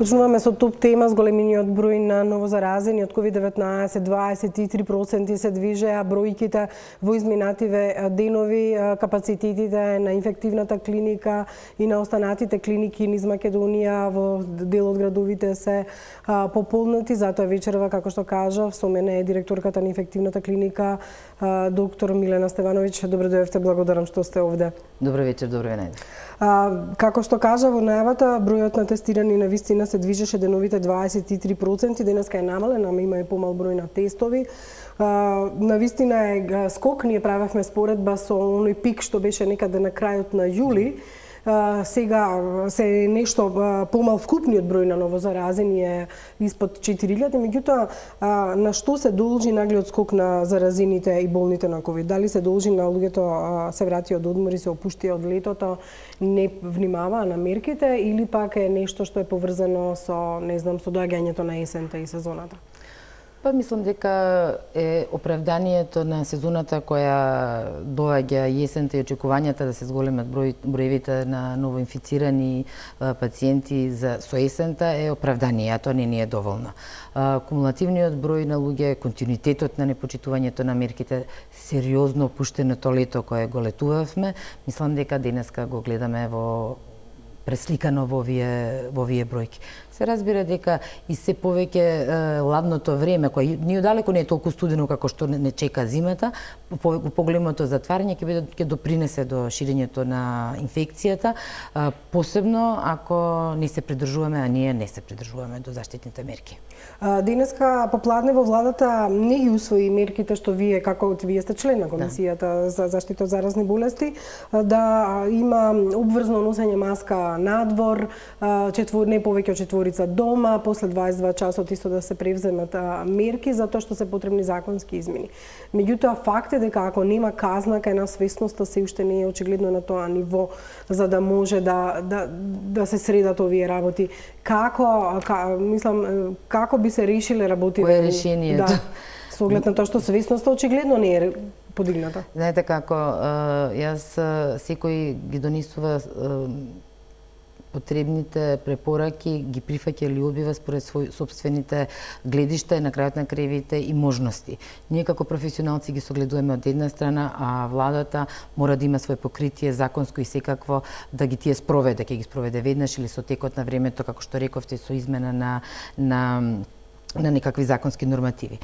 Почнуваме со топ тема, зголемениот број на новозаразени од COVID-19, 23% се движеа бројките во изминативе денови, капацитетите на инфективната клиника и на останатите клиники низ Македонија во дел од градовите се пополнати, затоа вечерва, како што кажав, со мене е директорката на инфективната клиника, доктор Милена Стевановиќ. Добро дојдовте, благодарам што сте овде. Добро вечер, добро ве најдов. Како што кажа во најавата, бројот на тестирани на вистина се движеше деновите 23%, денеска е намален, ама има и помал број на тестови. На вистина е скок, ние правевме споредба со оној пик што беше некаде на крајот на јули. Сега се нешто помал вкупниот број на новозаразени е испод 4000, меѓутоа на што се должи наглиот скок на заразените и болните на ковид? Дали се должи на луѓето се вратија од одмор и се опуштија од летото, не внимаваа на мерките, или пак е нешто што е поврзано со, не знам, со доаѓањето на есента и сезоната? Па мислам дека е оправданието на сезоната која доаѓа есента и очекувањата да се зголемат броевите на новоинфицирани пациенти со есента е оправдание, а тоа не ни е доволно. Кумулативниот број на луѓе, континуитетот на непочитувањето на мерките, сериозно опуштеното лето кое го летувавме, мислам дека денеска го гледаме пресликано во овие бројки. Се разбира дека и се повеќе ладното време, кој ни далеко не е толку студено како што не чека зимата, поголемото затварање ќе допринесе до ширењето на инфекцијата, посебно ако не се придржуваме, а ние не се придржуваме до заштитните мерки. Денеска попладне во владата не ги усвои мерките што вие сте член на комисијата за заштита од заразни болести, да има обврзно носење маска надвор, не повеќе од четворица дома, после 22 часот исто да се превземат мерки, затоа што се потребни законски измени. Меѓутоа, факт е дека ако нема казна, кај нас свесноста се уште не е очигледно на тоа ниво, за да може да се средат овие работи. Како би се решиле работите? Кое е решението? Да, со оглед на тоа што свесноста очигледно не е подигната. Знаете како, јас секој ги донесува потребните препораки, ги прифаќа или одбива според свој собствените гледишта и на крајот на крајвите и можности. Ние како професионалци ги согледуваме од една страна, а владата мора да има свој покритие законско и секакво да ги тие спроведе, ќе ги спроведе веднаш или со текот на времето, како што рековте, со измена на некакви законски нормативи.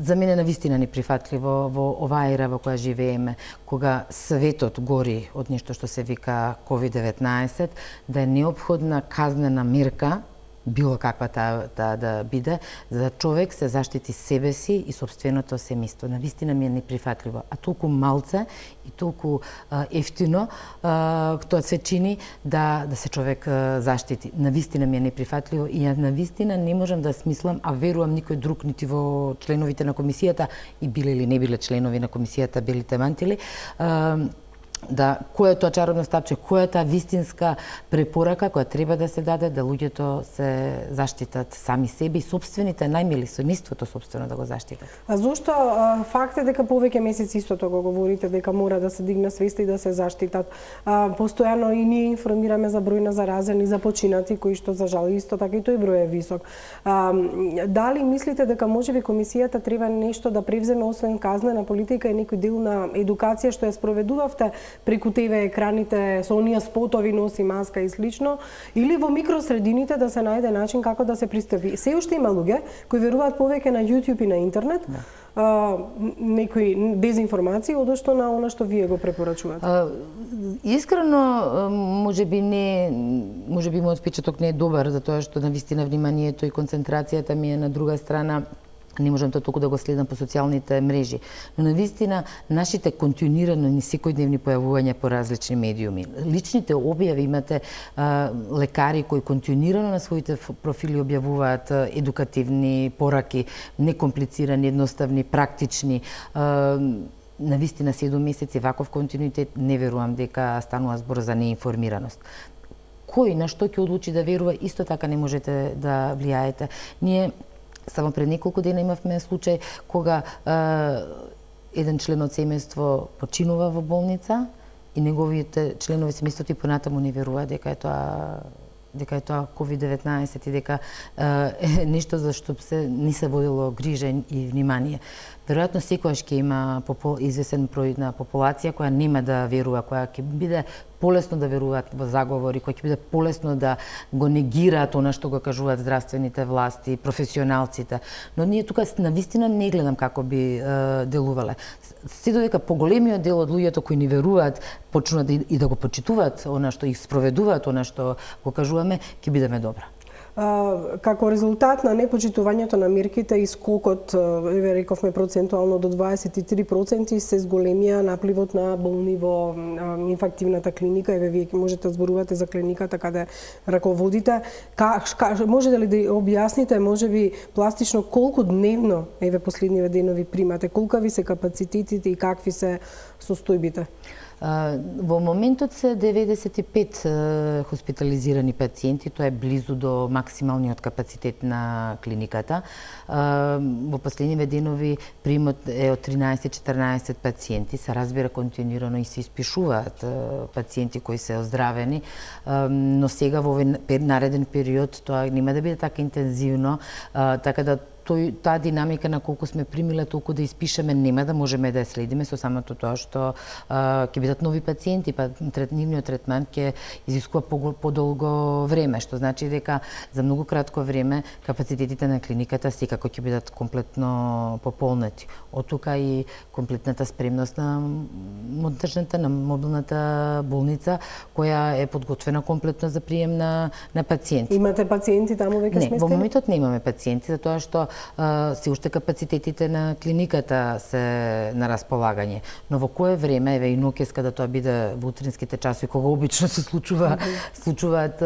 За мене навистина неприфатливо во оваа ера во која живееме, кога светот гори од нешто што се вика COVID-19, да е неопходна казнена мерка, било каква таа да биде, за да човек се заштити себе си и собственото семејство. Навистина ми е неприфатливо. А толку малце и толку ефтино тоа се чини да се човек заштити. Навистина ми е неприфатливо и ја навистина не можам да смислам, а верувам никој друг, нити во членовите на комисијата, и биле или не биле членови на комисијата, белите мантили, да кој е тоа чаробно стапче, која е таа вистинска препорака која треба да се даде да луѓето се заштитат сами себе и собствените најмили, семејството собствено да го заштитат. А зошто факт е дека повеќе месеци истото го говорите дека мора да се дигне свеста и да се заштитат? Постојано и ние информираме за број на заразени, за починати кои што за жал исто така и тој број е висок. Дали мислите дека можеби комисијата треба нешто да превземе освен казнена политика и некој дел на едукација што ја спроведувавте преку ТВ екраните со оние спотови носи маска и слично, или во микросредините да се најде начин како да се пристапи? Се уште има луѓе кои веруваат повеќе на YouTube и на интернет, некои дезинформации, одошто на она што вие го препорачувате? Искрено, можеби мојот впечаток не е добар, затоа што навистина вниманието и концентрацијата ми е на друга страна. Не можам тоа толку да го следам по социјалните мрежи. Но навистина, нашите континуирано ни секојдневни појавувања по различни медиуми. Личните објави, имате лекари кои континуирано на своите профили објавуваат едукативни пораки, некомплицирани, едноставни, практични. Навистина 7 месеци ваков континуитет, не верувам дека станува збор за неинформираност. Кој на што ќе одлучи да верува, исто така не можете да влијаете. Ние само пред неколку дена имавме случај кога еден член од семејство починува во болница и неговите членови семејството и понатаму не веруваат дека е тоа дека е тоа COVID-19 и дека е нешто за што не се водило грижа и внимание. Веројатно секогаш ќе има извесен број на популација која нема да верува, која ќе биде полесно да веруваат во заговори, која ќе биде полесно да го негираат она што го кажуваат здравствените власти, професионалците. Но ние тука навистина не гледам како би делувале. Се додека поголемиот дел од луѓето кои ни веруваат, почнуваат и да го почитуваат она што их спроведуваат, она што го кажуваме, ќе бидеме добра. Како резултат на непочитувањето на мерките и скокот, рековме процентуално до 23%, се зголемија напливот на болни во инфактивната клиника. Вие можете да зборувате за клиниката каде раководите. Можете ли да објасните, можеби пластично, колку дневно, последниве денови примате, колка ви се капацитетите и какви се состојбите? Во моментот се 95 хоспитализирани пациенти, тоа е близу до максималниот капацитет на клиниката. Во последниве денови примот е од 13-14 пациенти, се разбира континуирано и се испишуваат пациенти кои се оздравени, но сега во овој нареден период тоа нема да биде така интензивно, така да таа динамика на колку сме примиле, толку да испишеме, нема да можеме да ја следиме со самото тоа што ќе бидат нови пациенти, па нивниот третман ќе изискува подолго време, што значи дека за многу кратко време капацитетите на клиниката секако ќе бидат комплетно пополнети. Од тука и комплетната спремност на монтажната, на мобилната болница, која е подготвена комплетно за прием на пациенти. Имате пациенти таму веќе сместени? Не, во моментот немаме пациенти, затоа што се уште капацитетите на клиниката се на располагање. Но во кое време, еве и ноќес кога тоа биде во утринските часови, кога обично се случуваат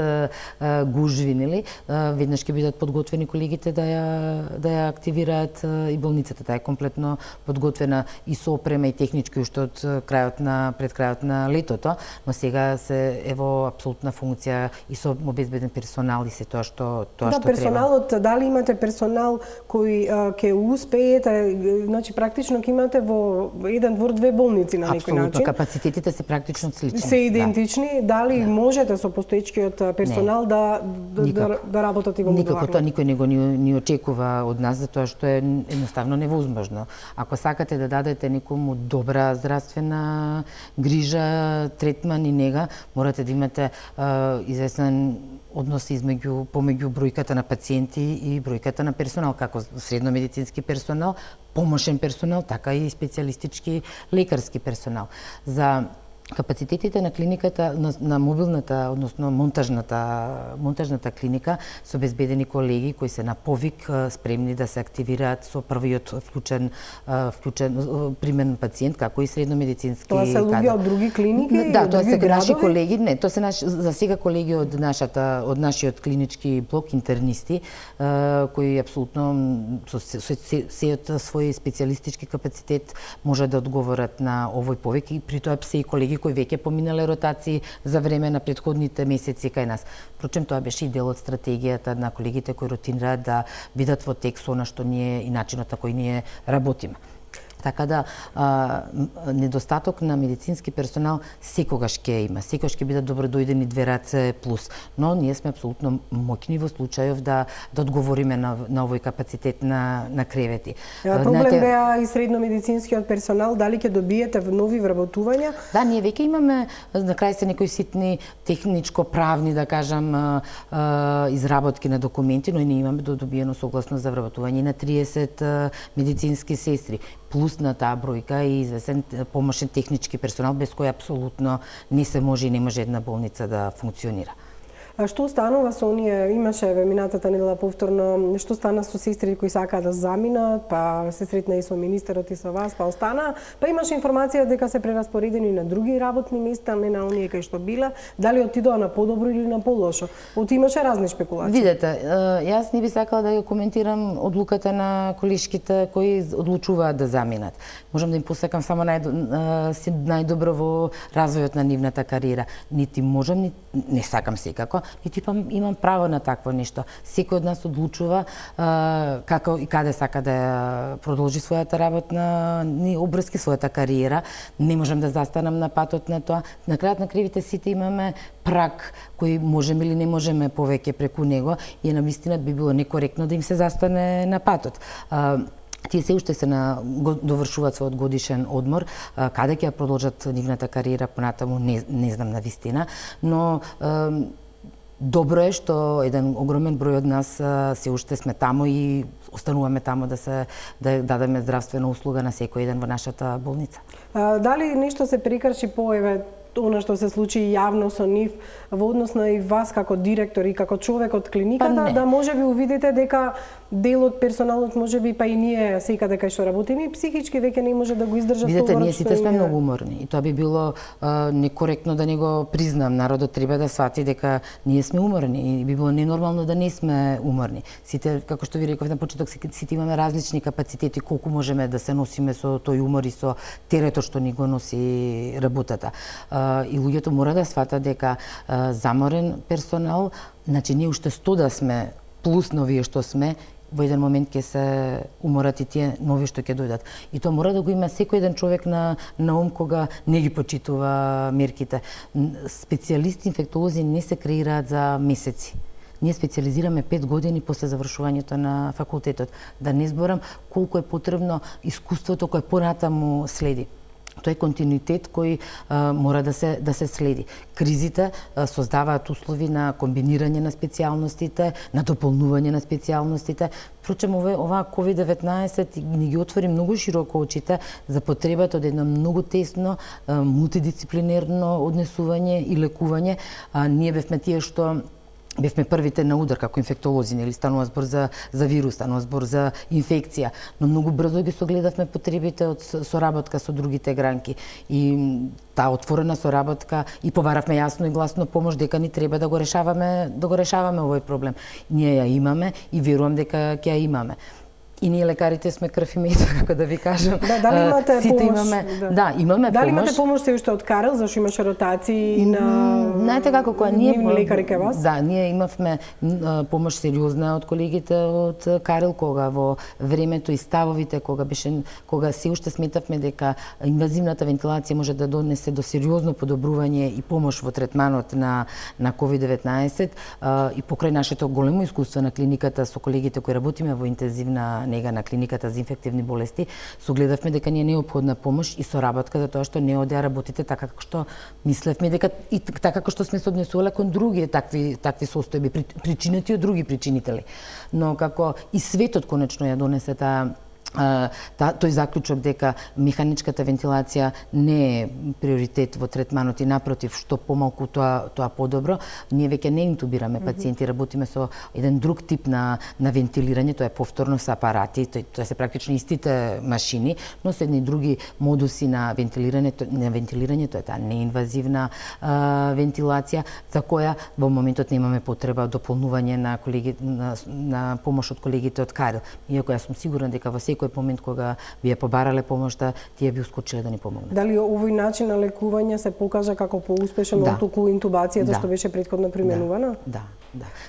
гужви, нели? Веднаш ќе бидат подготвени колегите да ја активираат и болницата. Таа е комплетно подготвена и со опрема и технички уште од пред крајот на летото, но сега се во апсолутна функција и со обезбеден персонал и се тоа што треба. Персоналот, дали имате персонал кои ќе успеете, значи практично ќе имате во еден двор две болници на некој начин. Апсолутно, капацитетите се практично слични. Се идентични, дали можете со постоечкиот персонал да работат и во модуларно? Никако, тоа никој не го ни очекува од нас, затоа што е едноставно невозможно. Ако сакате да дадете некому добра здравствена грижа, третман и нега, морате да имате известен однос помеѓу бројката на пациенти и бројката на персонал, како средномедицински персонал, помошен персонал, така и специјалистички лекарски персонал. За капацитетите на клиниката, на мобилната, односно монтажната клиника, се обезбедени колеги кои се на повик, спремни да се активираат со првиот вклучен примен пациент, како и средномедицински кадар. Тоа се луѓе од други клиники? Да, тоа се наши колеги, не, тоа се за сега колеги од нашиот клинички блок, интернисти, кои апсолутно со сејот свој специјалистички капацитет може да одговорат на овој повик и при тоа се и колеги кои веќе поминале ротации за време на претходните месеци кај нас. Впрочем, тоа беше и дел од стратегијата на колегите кои ротинираат да бидат во тек со она што ние и начинот на кој ние работиме. Така да, недостаток на медицински персонал секогаш ќе има, секогаш ќе бидат добродојдени две раце плюс, но ние сме апсолутно моќни во случајов да одговориме на овој капацитет на кревети. Проблем беа и средномедицинскиот персонал, дали ќе добиете нови вработувања? Да, ние веќе имаме, на крај се некои ситни техничко-правни, да кажам, изработки на документи, но и ние имаме добиено согласно за вработување на 30 медицински сестри, плюс на таа бројка и известен помошен технички персонал, без кој апсолутно не се може и не може една болница да функционира. А што станува со оние, имаше минатата недела повторно, што стана со сестри кои сакаат да заминат, па се сретна и со министерот и со вас, па остана, па имаше информација дека се прераспоредени на други работни места, не на оние кај што биле, дали отидоа на подобро или на полошо. Имаше разни спекулации. Видете, јас не би сакала да ја коментирам одлуката на колешките кои одлучуваат да заминат. Можам да им посакам само најдобро во развојот на нивната кариера. Нити можам, не сакам секако, нити имам право на такво нешто. Секој од нас одлучува како и каде сака да продолжи својата работна обврски, својата кариера. Не можам да застанам на патот на тоа. На крајот на кривите сите имаме праг кој можеме или не можеме повеќе преку него и навистина би било некоректно да им се застане на патот. Тие се уште се довршуваат својот годишен одмор, каде ќе продолжат нивната кариера понатаму не знам навистина, но добро е што еден огромен број од нас се уште сме таму и остануваме таму да дадеме здравствена услуга на секој ден во нашата болница. Дали нешто се прекрши по она што се случи јавно со нив во однос на и вас како директор и како човек од клиниката, да можеби увидите дека дел од персоналот можеби па и ние секаде кај што работиме психички веќе не може да го издржат товарот. Видете, ние сите сме многу уморни и тоа би било некоректно да не го признам. Народот треба да свати дека ние сме уморни и би било ненормално да не сме уморни. Сите, како што ви реков на почеток, сите имаме различни капацитети колку можеме да се носиме со тој умор и со терето што ни го носи работата. И луѓето мора да сватат дека заморен персонал, значи ние уште 100 да сме плюс новие што сме, во еден момент ќе се уморат и тие нови што ќе дојдат. И тоа мора да го има секој еден човек на ум кога не ги почитува мерките. Специјалисти инфектолози не се креираат за месеци. Ние специализираме 5 години после завршувањето на факултетот. Да не зборам колку е потребно искуството кое понатаму следи. Тоа е континуитет кој мора да се следи. Кризите создаваат услови на комбинирање на специјалностите, на дополнување на специјалностите. Впрочем, оваа COVID-19 ни ги отвори многу широко очите за потребата од едно многу тесно, мултидисциплинерно однесување и лекување. Ние бевме тие што бевме првите на удар како инфектолози, нели станува збор за вирус, станува збор за инфекција, но многу брзо ги согледавме потребите од соработка со другите гранки и таа отворена соработка и побаравме јасно и гласно помош дека ни треба да го решаваме овој проблем. Ние ја имаме и верувам дека ќе ја имаме. И ние лекарите сме крв и мед, како да ви кажам. Дали имате сите помош? Имаме дали помош. Имате помош се уште од Карел, зашто имаше ротации на знаете како кога ние лекари кај вас? Да, ние имавме помош сериозна од колегите од Карел кога во времето и ставовите кога се уште сметавме дека инвазивната вентилација може да донесе до сериозно подобрување и помош во третманот на COVID-19 и покрај нашето големо искуство на клиниката со колегите кои работиме во интензивна нега на клиниката за инфективни болести, согледавме дека ни е неопходна помош и соработка за тоа што не оде работите така како што мислевме дека и така како што сме се однесувале кон други такви состојби причинети од други причинители. Но како и светот конечно ја донесе тој заклучок дека механичката вентилација не е приоритет во третманот и напротив, што помалку тоа подобро, ние веќе не интубираме пациенти, работиме со еден друг тип на вентилирање, тоа е повторно со апарати, тоа се практично истите машини, но со едни други модуси на вентилирање, тоа е таа неинвазивна вентилација, за која во моментот немаме потреба дополнување на помош од колегите од Карел. Иако јас сум сигурна дека во секој момент кога би ја побарале помошта, тие би ускочиле да ни помогнат. Дали овој начин на лекување се покажа како поуспешен отколку интубацијата што беше претходно применувана? Да.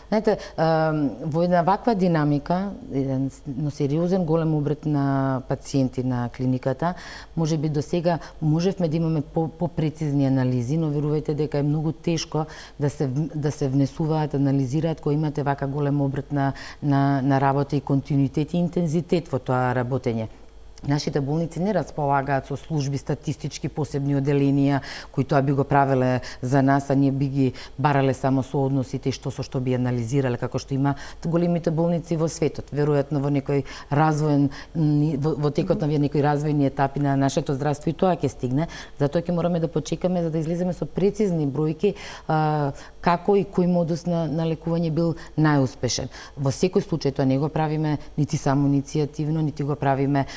Знаете, во една ваква динамика, еден сериозен голем обрет на пациенти на клиниката, можеби до сега можевме да имаме попрецизни анализи, но верувајте дека е многу тешко да се внесуваат, анализираат кога имате вака голем обрет на работа и континуитет и интензитет во тоа работење. Нашите болници не располагаат со служби статистички посебни оделенија кои тоа би го правеле за нас, а ние би ги барале само со односите и што со што би анализирале, како што има големите болници во светот. Веројатно во некој развоен во текот на некои развојни етапи на нашето здравство и тоа ќе стигне. Затоа ќе мораме да почекаме за да излеземе со прецизни бројки како и кој модус на лекување бил најуспешен. Во секој случај тоа не го правиме нити само иницијативно, нити го правиме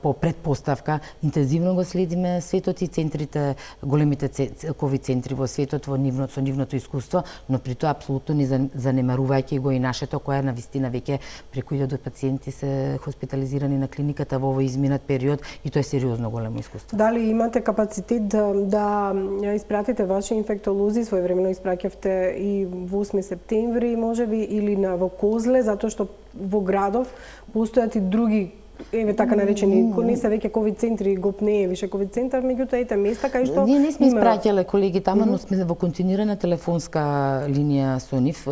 по предпоставка, интензивно го следиме светот и центрите, големите ковид центри во светот со нивното искуство, но при тоа апсолутно не занемарувајќи го и нашето, која навистина веќе преку 1000 пациенти се хоспитализирани на клиниката во овој изминат период и тоа е сериозно големо искуство. Дали имате капацитет да испратите ваши инфектолози, своевремено испраќавте и во 8 септември можеби или во Козле, затоа што во градов постојат и други така наречени, не се веќе ковид центри, ГОП не е више ковид центар, меѓутоа ете места кај што ние не сме испраќале колеги тама, но сме во континуирана телефонска линија со нив,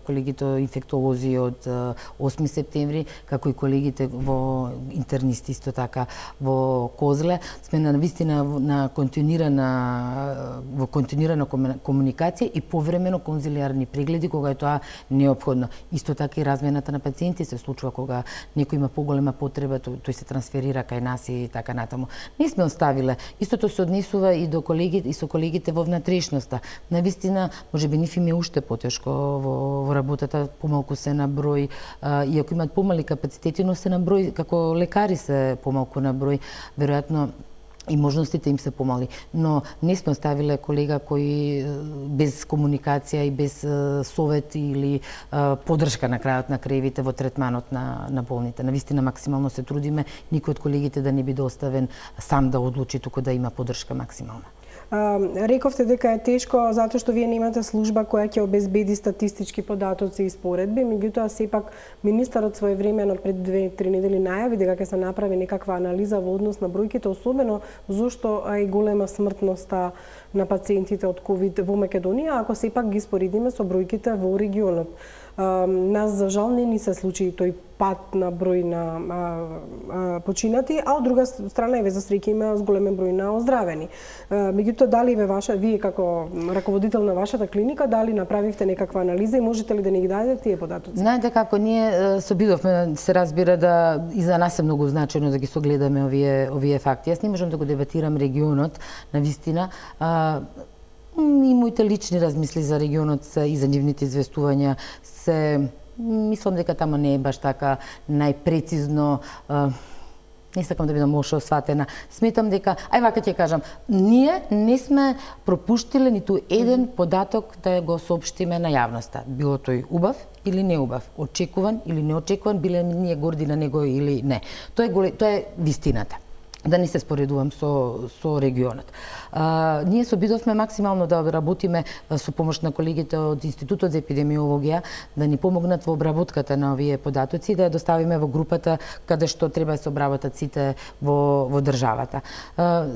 колегите инфектолози од 8 септември, како и колегите во интернисти исто така во Козле, сме на вистина на континуирана комуникација и повремено конзилиарни прегледи кога е тоа неопходно. Исто така и размената на пациенти се случува кога некој има поголема потреба, тој се трансферира кај нас и така натаму. Не сме оставиле. Истото се однесува и до колегите и со колегите во внатрешноста. Навистина, можеби нив им е уште потешко во работата, помалку се на број, иако имаат помали капацитети, но се на број, како лекари се помалку на број, веројатно и можностите им се помали. Но не сме оставиле колега кои без комуникација и без совет или поддршка на крајот на краевите во третманот на болните. Навистина максимално се трудиме никој од колегите да не биде оставен сам да одлучи, туку да има поддршка максимална. Рековте дека е тешко затоа што вие немате служба која ќе обезбеди статистички податоци и споредби, меѓутоа сепак министерот своевремено пред 2-3 недели најави дека ќе се направи некаква анализа во однос на бројките, особено зошто е голема смртноста на пациентите од ковид во Македонија, ако сепак ги споредиме со бројките во регионот. Нас за жал не ни се случи тој пат на број на починати, а од друга страна еве за среќа има зголемен број на оздравени. Меѓутоа дали вие како раководител на вашата клиника дали направивте некаква анализа и можете ли да ни ги дадете тие податоци? Знаете како ние се обидовме, се разбира да и за нас е многу значајно да ги согледаме овие факти. Јас не можам да го дебатирам регионот, навистина. И моите лични размисли за регионот и за нивните известувања се мислам дека тамо не е баш така најпрецизно, не сакам да бидам лошо сватена. Сметам дека, вака ќе кажам, ние не сме пропуштиле ниту еден податок да го соопштиме на јавноста. Било тој убав или неубав, очекуван или неочекуван, биле ние горди на него или не. Тоа е вистината. Да не се споредувам со регионот. Ние се обидовме максимално да работиме со помош на колегите од Институтот за епидемиологија, да ни помогнат во обработката на овие податоци и да ја доставиме во групата каде што треба да се обработат сите во државата.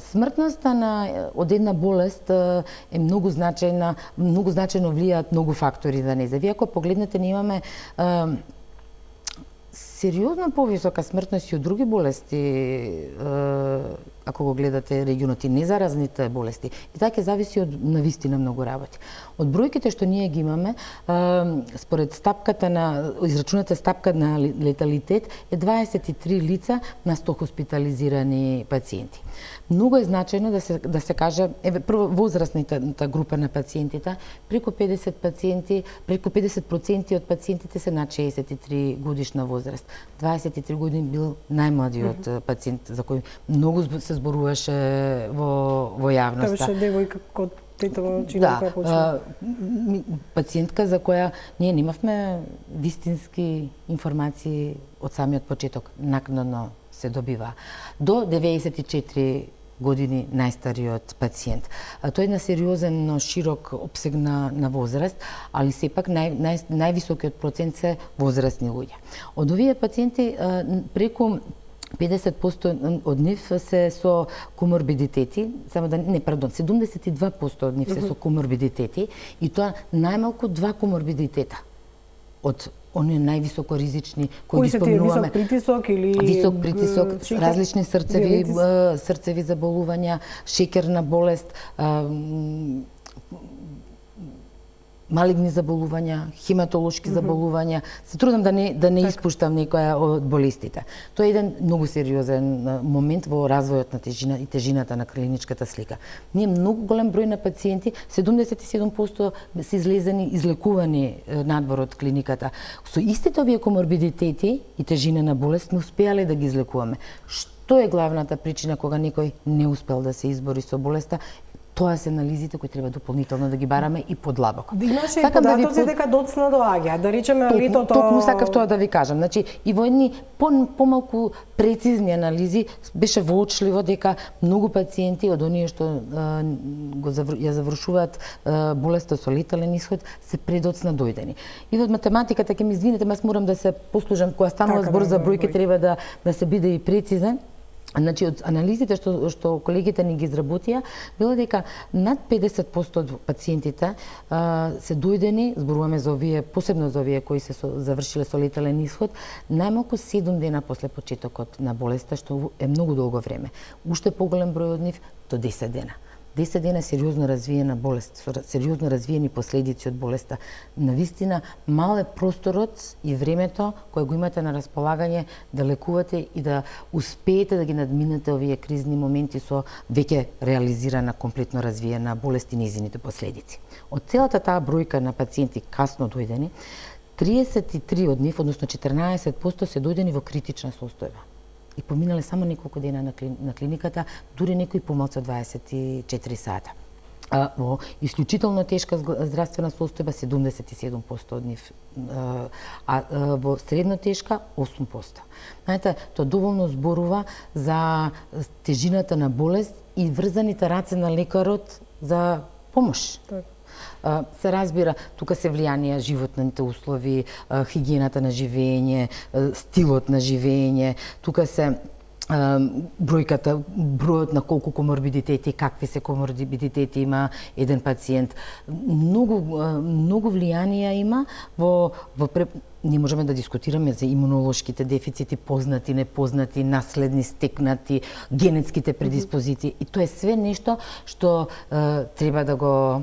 Смртноста од една болест е многу значајна, многу значајно влијаат многу фактори за неја. Вие ако погледнете, ние имаме сериозно повисока смртност и од други болести, ако го гледате регионот и незаразните болести. И така ќе зависи од навистина многу работи. Од бројките што ние ги имаме, според израчуната стапка на леталитет е 23 лица на 100 хоспитализирани пациенти. Многу е значајно да се каже, прво возрастната група на пациентите, преку 50% од пациентите се над 63 годишна возраст. 23 години бил најмладиот пациент за кој многу се зборуваше во јавноста. Тоа беше девојка код Тетова училка која почна. Пациентка за која ние немавме вистински информации од самиот почеток, накнадно се добива. До 94 години најстариот пациент. Тој е на сериозен, широк обсег на возраст, али сепак највисокиот процент се возрастни луѓе. Од овие пациенти преку 50% од нив се со коморбидитети, 72% од нив се со коморбидитети и тоа најмалку 2 коморбидитета од оние највисоко ризични кои ги спомнуваме. Висок притисок или висок притисок, различни срцеви заболувања, шеќерна болест, малигни заболувања, хематолошки заболувања. Се трудам да не испуштам некоја од болестите. Тоа е еден многу сериозен момент во развојот на тежината на клиничката слика. Ние многу голем број на пациенти, 77% се излезени, излекувани надвор од клиниката. Со истите овие коморбидитети и тежина на болест не успеале да ги излекуваме. Што е главната причина кога некој не успел да се избори со болеста? Тоа се анализите кои треба дополнително да ги бараме и подлабоко. Имаше и податоци дека доцна доаѓа, да речеме летото. Токму сакав тоа да ви кажам. Значи, и во едни помалку прецизни анализи беше воочливо дека многу пациенти од оние што ја завршуваат болеста со летален исход се предоцна дојдени. И од математиката ќе ми извинете, јас морам да се послужам кога станува збор за бројки, треба да се биде и прецизен. Значи, од анализите што колегите ни ги изработија, било дека над 50% од пациентите се дојдени, зборуваме за овие, посебно за овие кои се завршиле со летален исход, најмалку 7 дена после почетокот на болеста, што е многу долго време. Уште поголем број од нив до 10 дена. 10 дена сериозно развиена болест, со сериозно развиени последици од болеста. Навистина, мал е просторот и времето кое го имате на располагање да лекувате и да успеете да ги надминете овие кризни моменти со веќе реализирана, комплетно развиена болест и незините последици. Од целата таа бројка на пациенти касно дојдени, 33 од нив, односно 14%, се дојдени во критична состојба. И поминале само неколку дена на клиниката, дури некои помалку од 24 сата. Во исклучително тешка здравствена состојба 77% од нив, а во средно тешка 8%. Знаете, тоа доволно зборува за тежината на болест и врзаните раце на лекарот за помош. Се разбира, тука се влијанија животните услови, хигиената на живење, стилот на живење, тука се бројот на колку коморбидитети, какви се коморбидитети има еден пациент. Многу влијанија има не можеме да дискутираме за имунолошките дефицити, познати, непознати, наследни, стекнати, генетските предиспозиции. И тоа е све нешто што треба да го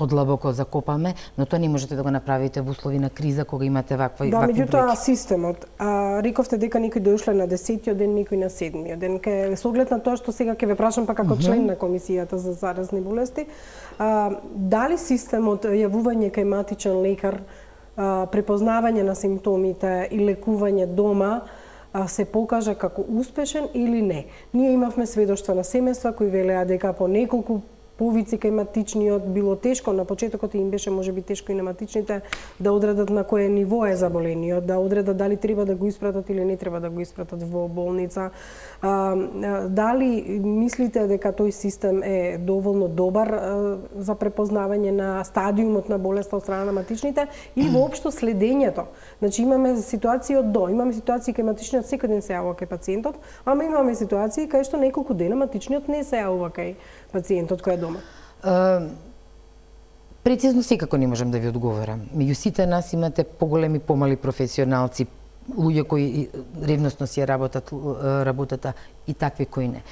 подлабоко закопаме, но тоа не можете да го направите во услови на криза кога имате вакви бројки. Меѓутоа системот, рековте дека некои дошле на 10-тиот ден, некои на 7-тиот ден. Со оглед на тоа што сега ќе ве прашам па како член на комисијата за заразни болести, дали системот јавување кај матичен лекар, препознавање на симптомите и лекување дома се покажа како успешен или не? Ние имавме сведоштва на семејства кои велеа дека по неколку повици кај матичниот било тешко, на почетокот им беше можеби тешко и на матичните да одредат на кое ниво е заболениот, да одредат дали треба да го испратат или не треба да го испратат во болница. Дали мислите дека тој систем е доволно добар за препознавање на стадиумот на болеста од страна на матичните и воопшто следењето? Значи имаме ситуации од до, имаме ситуации кај матичниот секој ден се јавува кај пациентот, ама имаме ситуации кај што неколку дена матичниот не се јавува кај пациентот кој е дома. Прецизно секако не можам да ви одговорам. Меѓу сите нас имате поголеми, помали професионалци, луѓе кои ревносно си работат работата и такви кои не.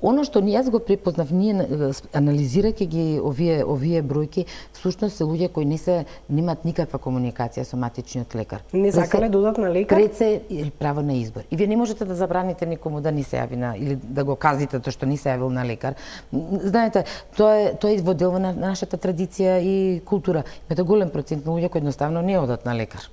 Оно што јас го препознав, ние анализирајќи ги овие бројки, всушност се луѓе кои немаат никаква комуникација со матичниот лекар. Не сакале додат на лекар? Пред се право на избор. И вие не можете да забраните никому да не се јави или да го казите тоа што не се јавил на лекар. Знаете, тоа е во дел на нашата традиција и култура. Имате голем процент на луѓе кои едноставно не одат на лекар.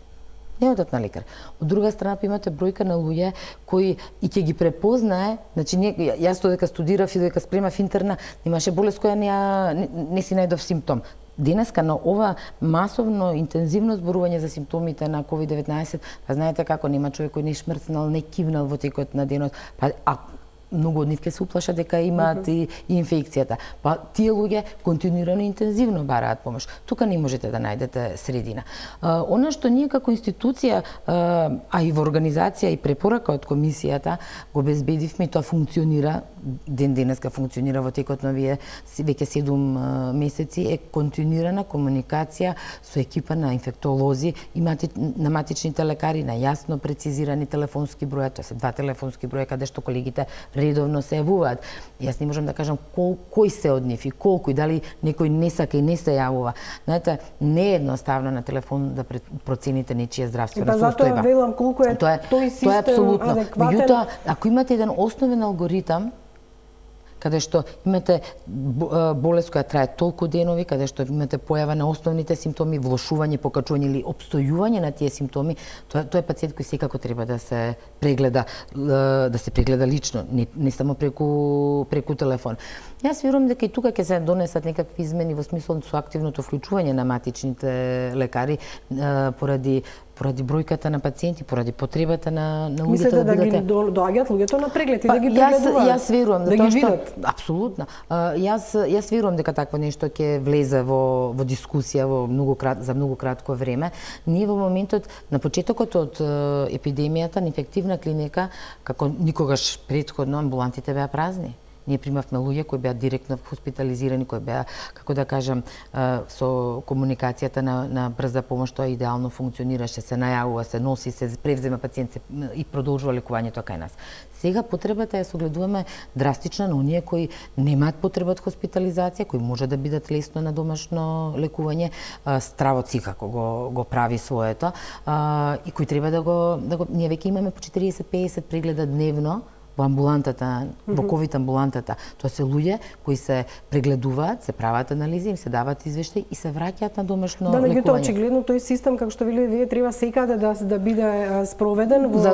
Не одат на лекар. Од друга страна имате бројка на луѓе кои и ќе ги препознае, значи јас додека студирав и додека спремав интерна, имаше болест која не си најдов симптом. Денеска на ова масовно, интензивно зборување за симптомите на COVID-19, па знаете како нема човек кој не шмрцнал, не кивнал во текот на денот, многу од нив ќе се уплашат дека имаат и инфекцијата. Па тие луѓе континуирано интензивно бараат помош. Тука не можете да најдете средина. Она што ние како институција, а и во организација и препорака од комисијата го обезбедивме, тоа функционира, денеска функционира во текот на веќе 7 месеци, е континуирана комуникација со екипа на инфектолози и на матичните лекари, на јасно прецизирани телефонски броја, тоа се 2 телефонски броја каде што колегите редовно се јавуваат. Јас не можам да кажам кој се од нив и колку и дали некој не сака и не се јавува. Знаете, не е едноставно на телефон да процените нечија здравствена состојба. Затоа велам колку е тој систем адекватен. Меѓутоа, ако имате еден основен алгоритам каде што имате болест која трае толку денови, каде што имате појава на основните симптоми, влошување, покачување или опстојување на тие симптоми, тоа е пациент кој секако треба да се прегледа лично, не само преку телефон. Јас верувам дека и тука ќе се донесат некакви измени во смислот со активното вклучување на матичните лекари поради бројката на пациенти, поради потребата на луѓето. Мислите да ги доаѓаат луѓето на преглед и да ги прегледуваат? Јас верувам да ги видат. Апсолутно. Јас верувам дека такво нешто ќе влезе во дискусија за многу кратко време. Ние во моментот на почетокот од епидемијата на инфективна клиника, како никогаш претходно, амбулантите беа празни. Ние примавме луѓе кои беа директно хоспитализирани, кои беа, како да кажам, со комуникацијата на брза помош, тоа идеално функционираше, се најавува, се носи, се превзема пациент и продолжува лекувањето кај нас. Сега потребата ја согледуваме драстична на оние кои немаат потреба од хоспитализација, кои може да бидат лесно на домашно лекување, стравот секако го прави своето, и кои треба да го ние веќе имаме по 40-50 прегледа дневно во амбулантата, во ковид амбулантата. Тоа се луѓе кои се прегледуваат, се прават анализи, им се даваат извештаи и се враќаат на домашно лекување. Да, меѓутоа очигледно тој систем, како што вие треба секаде да биде спроведен во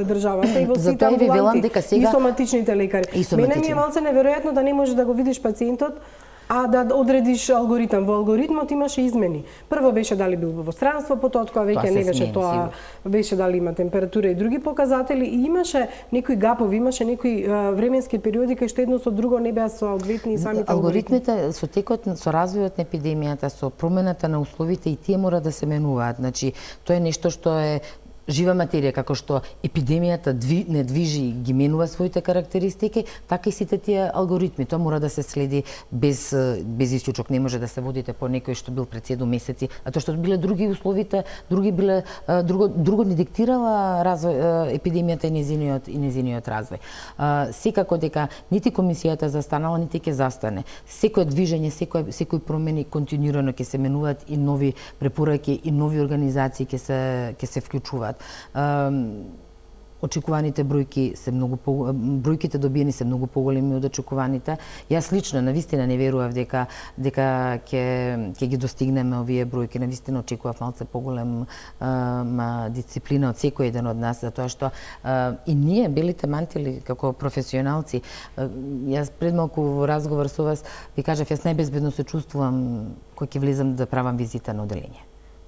државата и во сите амбуланти и соматичните лекари. Мене ми е малце неверојатно да не можеш да го видиш пациентот, а да одредиш алгоритам. Во алгоритмот имаше измени. Прво беше дали бил во странство, потоа веќе не беше тоа, беше дали има температура и други показатели и имаше некои гапови, имаше некои временски периоди кај што едно со друго не беа соодветни самите алгоритми. Алгоритмите со текот, со развојот на епидемијата, со промената на условите и тие мора да се менуваат. Значи, тоа е нешто што е жива материја, како што епидемијата не движи, ги менува своите карактеристики, така и сите тие алгоритми. Тоа мора да се следи без исклучок. Не може да се водите по некој што бил пред 7 месеци, а тоа што биле други условите, друго не диктирала развој епидемијата и незиниот развој. Секако дека нити комисијата застанала, нити ќе застане. Секој движење, секој промени континуирано ќе се менуваат и нови препораки и нови организации ќе се вклучуваат. Очекуваните бројки се бројките добиени се многу поголеми од очекуваните. Јас лично навистина не верував дека ќе ги достигнеме овие бројки. Навистина очекував малце поголема дисциплина од секој еден од нас, затоа што и ние белите мантили како професионалци, јас пред малку во разговор со вас ви кажав, јас најбезбедно се чувствувам кога ќе влезам да правам визита на оделение.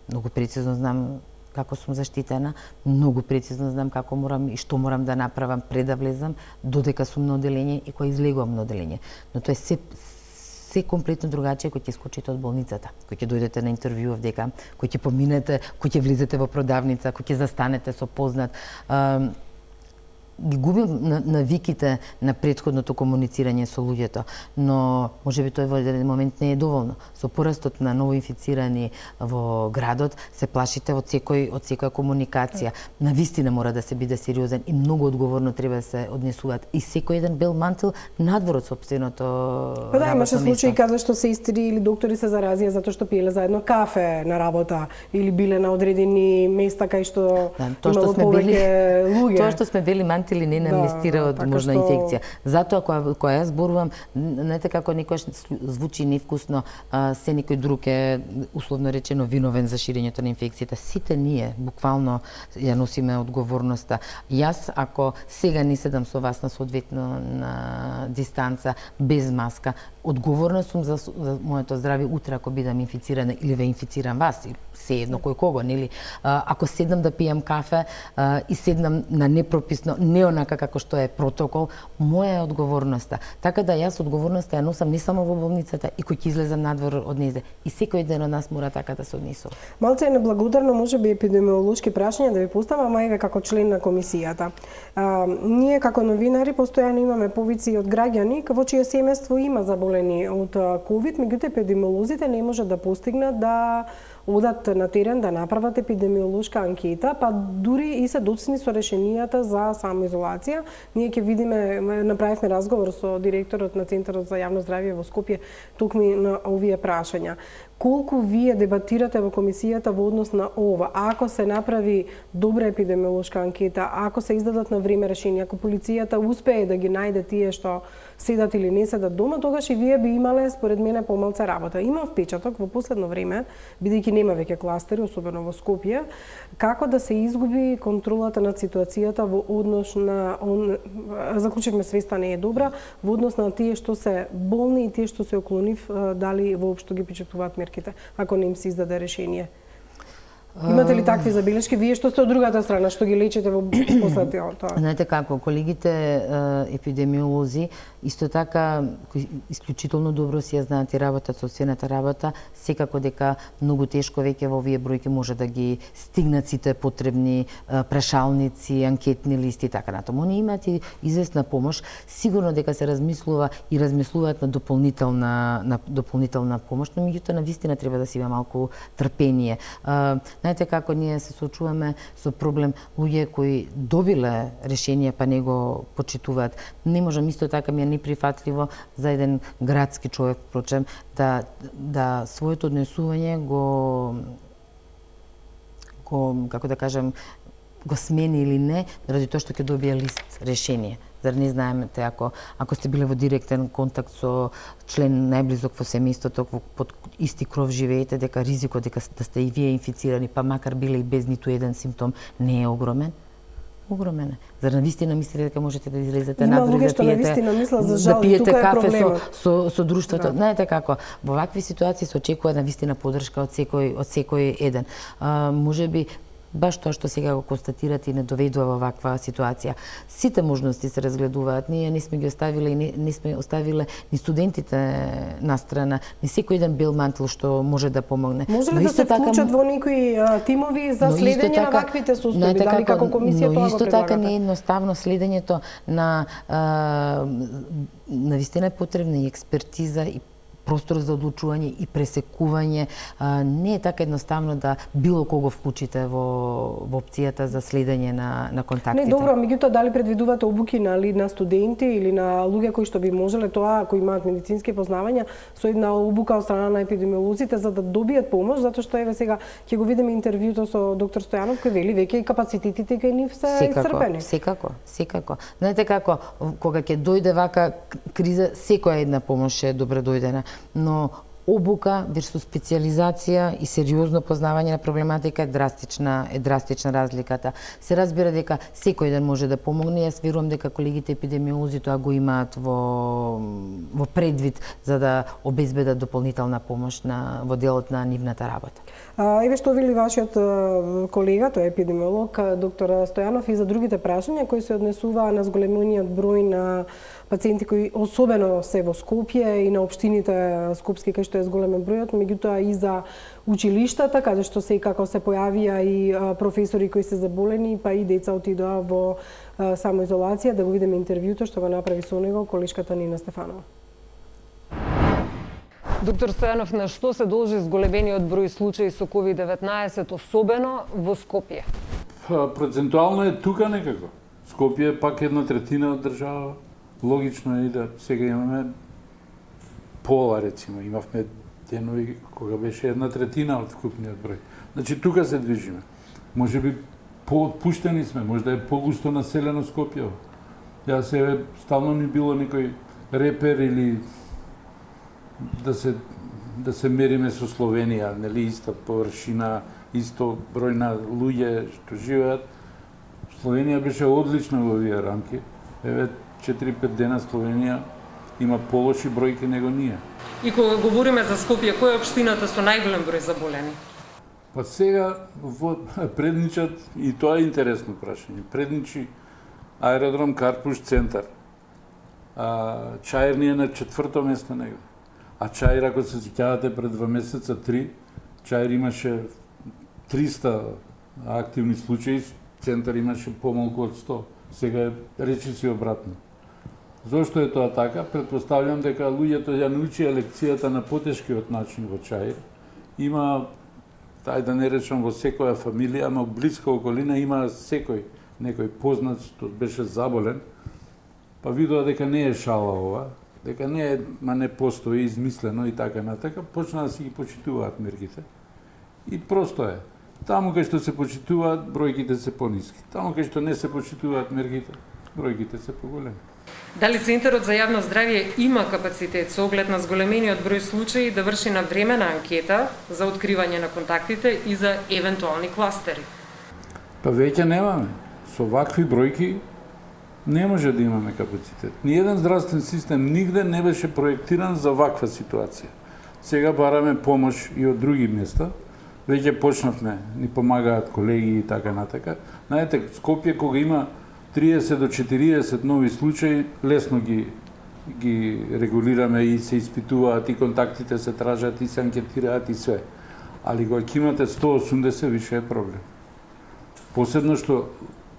Многу прецизно знам како сум заштитена, многу прецизно знам како морам и што морам да направам пред да влезам, додека сум на оделение и кога излегувам на оделение. Но тоа е се комплетно другачие кој ќе скочите од болницата, кој ќе дојдете на интервју овдека, кој ќе поминете, кој ќе влезете во продавница, кој ќе застанете со познат. Ги губим навиките на претходното комуницирање со луѓето, но можеби тој во еден момент не е доволно. Со порастот на новоинфицирани во градот се плашите од секоја комуникација. Навистина мора да се биде сериозен и многу одговорно треба да се однесуваат и секој еден бел мантил надвор од сопственото работно место. Имаше случаи каде што сестри или доктори се заразија затоа што пиеле заедно кафе на работа или биле на одредени места кај што имало повеќе луѓе. Тоа што сме бели или не амнестира од можна инфекција. Затоа кога јас зборувам, знаете како некојаш звучи невкусно, се некој друг е условно речено виновен за ширењето на инфекцијата. Сите ние буквално ја носиме одговорноста. Јас ако сега не седам со вас на соодветно на дистанца без маска, одговорна сум за моето здравје утре ако бидам инфицирана или ве инфицирам вас, се едно кој кого, нели? Ако седнам да пијам кафе и седнам на непрописно, не онака како што е протокол, моја е одговорноста. Така да јас одговорноста ја носам не само во болницата и кој ќе излезам надвор од незе. И секој ден од нас мора така да се однесува. Малце е неблагодарно, можеби епидемиолошки прашања да ви поставам, а еве како член на комисијата. Ние како новинари постојано имаме повици од граѓани во чие семејство има заболени од ковид, меѓутоа епидемиолозите не можат да постигнат да одат на терен да направат епидемиолошка анкета, па дури и се доцни со решенијата за самоизолација. Ние ќе видиме, направивме разговор со директорот на Центарот за јавно здравје во Скопје токму на овие прашања. колку вие дебатирате во комисијата во однос на ова? Ако се направи добра епидемиолошка анкета, ако се издадат на време решенија, ако полицијата успее да ги најде тие што седат или не седат дома, тогаш и вие би имале, според мене, помалце работа. Имам впечаток во последно време, бидејќи нема веќе кластери, особено во Скопје, како да се изгуби контролата над ситуацијата во однос на заклучивме свеста не е добра, во однос на тие што се болни и тие што се околу нив, дали воопшто ги почитуваат мерките, ако не им се издаде решение. Имате ли такви забелешки? Вие што сте од другата страна, што ги лечите во после тоа? Знаете како, колегите епидемиолози исто така исклучително добро си ја знаат и работат собствената работа, секако дека многу тешко веќе во овие бројки може да ги стигнат сите потребни прашалници, анкетни листи и така натаму. Они имаат и известна помош, сигурно дека се размислува и размислуваат на дополнителна помош, но меѓутоа навистина треба да се има малку трпение. Знаете како ние се соочуваме со проблем луѓе кои добиле решение па не го почитуваат. Не можам, исто така ми е неприфатливо за еден градски човек, впрочем, да своето однесување го како да кажем, го смени или не, заради тоа што ќе добие лист решение. Зар не знаемте, ако сте биле во директен контакт со член најблизок во семејството, под исти кров живеете, дека ризикот дека да сте и вие инфицирани, па макар биле и без ниту еден симптом, не е огромен? Огромен е. Зар навистина мислите дека можете да излезете надвор да пиете кафе со друштвото? Знаете како, во вакви ситуации се очекува навистина поддршка од секој еден. Можеби баш тоа што сега го констатирате и не доведува во ваква ситуација. Сите можности се разгледуваат. Ние не сме ги оставиле и не сме оставиле ни студентите на страна, ни секој еден бел мантел што може да помогне. Може ли да се вклучат во некои тимови за следење на ваквите состојби? Дали како комисија тоа го предлагате? Но исто така не е едноставно следењето на навистина е потребна и експертиза и простор за одлучување и пресекување. Не е така едноставно да било кого вклучите во опцијата за следење на контактите. Не, добро, меѓутоа дали предвидувате обуки на студенти или на луѓе кои што би можеле тоа, кои имаат медицински познавања, со една обука од страна на епидемиолозите за да добијат помош, затоа што еве сега ќе го видиме интервјуто со доктор Стојанов кој вели веќе и капацитетите кај нив се исцрпени. Секако. Знаете како, кога ќе дојде вака криза, секоја една помош е добре дојдена. Но обука версус специјализација и сериозно познавање на проблематика е драстична разликата. Се разбира дека секој ден може да помогне. Јас верувам дека колегите епидемиолози тоа го имаат во предвид за да обезбедат дополнителна помош во делот на нивната работа. Еве што вели вашиот колега, тој е епидемиолог, доктор Стојанов, и за другите прашања кои се однесуваа на зголемениот број на пациенти кои особено се во Скопје и на општините скопски кај што е зголемен бројот, меѓутоа и за училиштата каде што секако се појавија и професори кои се заболени, па и деца отидоа во самоизолација. Да го видиме интервјуто што го направи со него колешката Нина Стефанова. Доктор Стојанов, на што се должи зголемениот број случаи со COVID-19, особено во Скопје? Процентуално е тука некако. Скопје е пак 1/3 од држава. Логично е да сега имаме пола, рецимо. Имавме денови кога беше 1/3 од вкупниот број. Значи, тука се движиме. Може би поотпуштени сме, може да е погусто населено Скопје. Јас еве стално ми било некој репер или да се мериме со Словенија, нели, иста површина, исто број на луѓе што живеат. Словенија беше одлична во овие рамки. Еве 4-5 дена Словенија има полоши бројки него ние. И кога говориме за Скопје, која е општината со најголем број заболени? Па сега предничат, и тоа е интересно прашање, предничи аеродром Карпуш центар. Чаир ни е на 4-то место него. А Чаир, ако се сеќавате пред 2 месеца, 3, Чаир имаше 300 активни случаи, центар имаше помалку од 100. Сега речи си обратно. Зошто е тоа така? Предпоставljam дека луѓето ја научија лекцијата на потешкиот начин во Чаир. Има, тај да не речам во секоја фамилија, ама блиска околина има некој познат што беше заболен, па видува дека не е шала ова, дека не постои измислено и така натака, почна да си ги почитуваат мерките. И просто е. Таму кај што се почитуваат, бројките се пониски. Таму кај што не се почитуваат мерките, бројките се поголеми. Дали Центарот за јавно здравје има капацитет со оглед на зголемениот број случаи да врши навремена анкета за откривање на контактите и за евентуални кластери? Па веќе немаме. Со вакви бројки не може да имаме капацитет. Ниеден здравствен систем нигде не беше проектиран за ваква ситуација. Сега бараме помош и од други места. Веќе почнавме, ни помагаат колеги и така натака. Знаете, Скопје кога има 30 до 40 нови случаи, лесно ги регулираме и се испитуваат, и контактите се тражат, и се анкетираат, и све. Али кога имате 180, више е проблем. Посебно што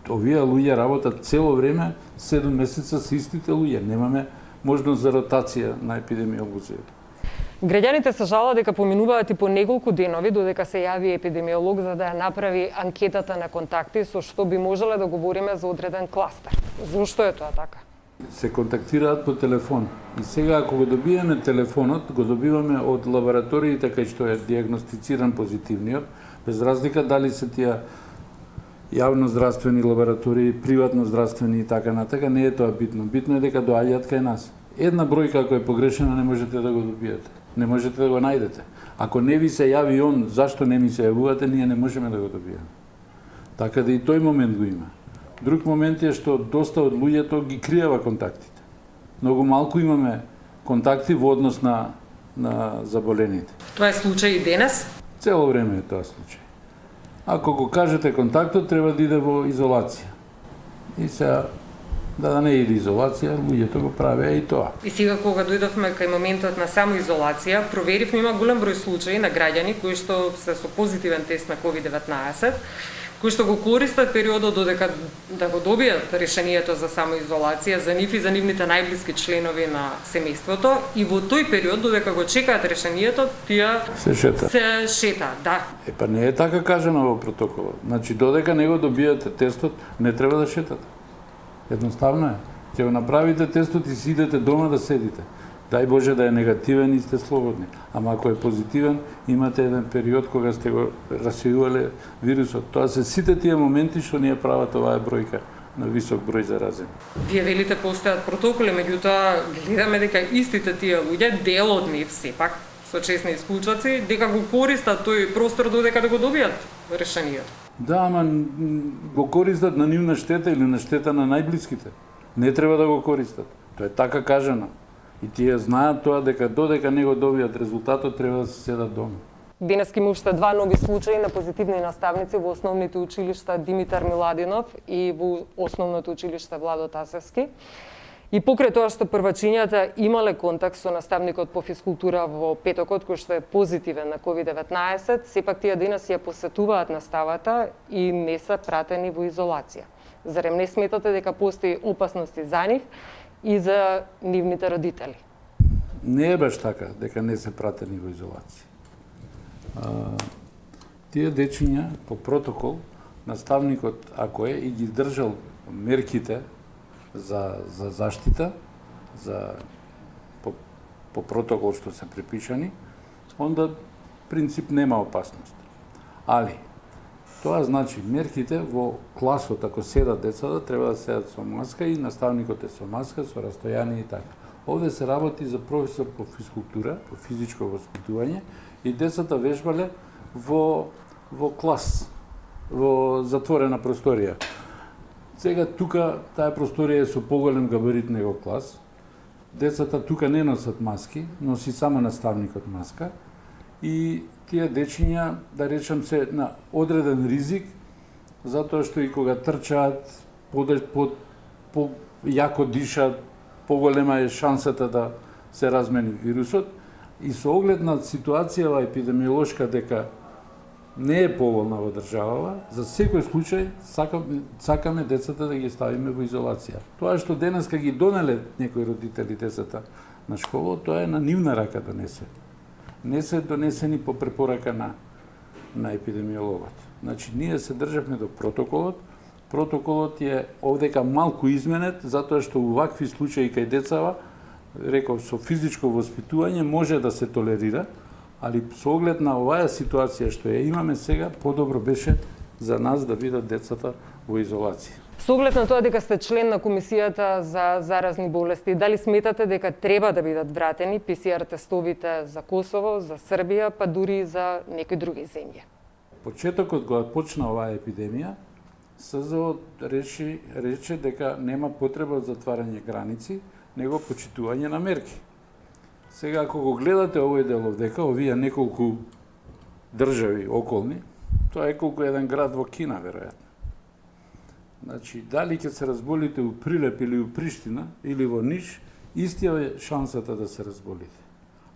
овие луѓе работат цело време, 7 месеца се истите луѓе. Немаме можност за ротација на епидемиолозија. Граѓаните се жалат дека поминуваат и по неколку денови додека се јави епидемиолог за да ја направи анкетата на контакти, со што би можеле да говориме за одреден кластер. Зошто е тоа така? Се контактираат по телефон. И сега, ако го добиеме телефонот, го добиваме од лабораториите кај што е диагностициран позитивниот, без разлика дали се тие јавно здравствени лаборатории, приватно здравствени и така натака, не е тоа битно. Битно е дека доаѓаат кај нас. Една бројка ако е погрешена не можете да го добиете. Не можете да го најдете. Ако не ви се јави он, зашто не ми се јавувате, ние не можеме да го добиеме. Така да и тој момент го има. Друг момент е што доста од луѓето ги криева контактите. Многу малку имаме контакти во однос на заболените. Тоа е случај и денес? Цело време е тоа случај. Ако го кажете контактот, треба да иде во изолација. И сега да не иде изолација, луѓето го правеа и тоа. И сега кога дојдовме кај моментот на самоизолација, проверивме има голем број случаи на граѓани кои што се со позитивен тест на COVID-19, кои што го користат периодот додека да го добијат решението за самоизолација за нив и за нивните најблиски членови на семејството, и во тој период додека го чекаат решението, тие се шетаат, да. Па не е така кажано во протоколот. Значи додека не го добијате тестот, не треба да шетате. Едноставно е. Ќе го направите тестот и си идете дома да седите. Дај Боже да е негативен и сте слободни. Ама ако е позитивен, имате еден период кога сте го расејувале вирусот. Тоа се сите тие моменти што ние прават оваа бројка на висок број заразени. Вие велите постојат протоколи, меѓутоа гледаме дека истите тие луѓе, дел од нив сепак, со честни исклучоци, дека го користат тој простор додека да го добијат решението. Да, ама го користат на нивна штета или на штета на најблиските. Не треба да го користат. Тоа е така кажано. И тие знаат тоа дека додека не го добијат резултатот, треба да се седат дома. Денес има уште 2 нови случаи на позитивни наставници во основните училишта Димитар Миладинов и во основното училиште Владо Тасевски. И покрај тоа што првачињата имале контакт со наставникот по физкултура во петокот, кој што е позитивен на COVID-19, сепак тие денес ја посетуваат наставата и не се пратени во изолација. Зарем не сметате дека постои опасности за нив и за нивните родители? Не е баш така, дека не се пратени во изолација. Тие дечиња по протокол, наставникот, ако е, и ги држал мерките за заштита, по протокол што се препишани, онда принцип нема опасност. Али, тоа значи мерките во класот, ако седат децата, треба да седат со маска и наставникот е со маска, со растојание и така. Овде се работи за професор по физкултура, по физичко воспитување, и децата вежбале во клас, во затворена просторија. Сега тука таа просторија е со поголем габарит него клас. Децата тука не носат маски, носи само наставникот маска. И тие дечиња, да речем, се на одреден ризик, затоа што и кога трчаат, јако дишат, поголема е шансата да се размени вирусот. И со оглед на ситуацијава епидемиолошка дека не е поволна во државава, за секој случај сакаме децата да ги ставиме во изолација. Тоа што денеска ги донеле некои родители децата на школа, тоа е на нивна рака донесе. Не се донесени по препорака на епидемиологот. Значи, ние се државме до протоколот. Протоколот е овдека малку изменет, затоа што во вакви случаи кај децава реков, со физичко воспитување може да се толерира, али со оглед на оваа ситуација што ја имаме сега, подобро беше за нас да бидат децата во изолација. Со оглед на тоа дека сте член на Комисијата за заразни болести, дали сметате дека треба да бидат вратени ПСР тестовите за Косово, за Србија, па дури за некои други земји? Почетокот кога почна оваа епидемија, СЗО рече дека нема потреба од затварање граници, него почитување на мерки. Сега, ако го гледате овој дел овдека, овие неколку држави околни, тоа е колку еден град во Кина, веројатно. Значи, дали ќе се разболите у Прилеп или у Приштина, или во Ниш, истија е шансата да се разболите.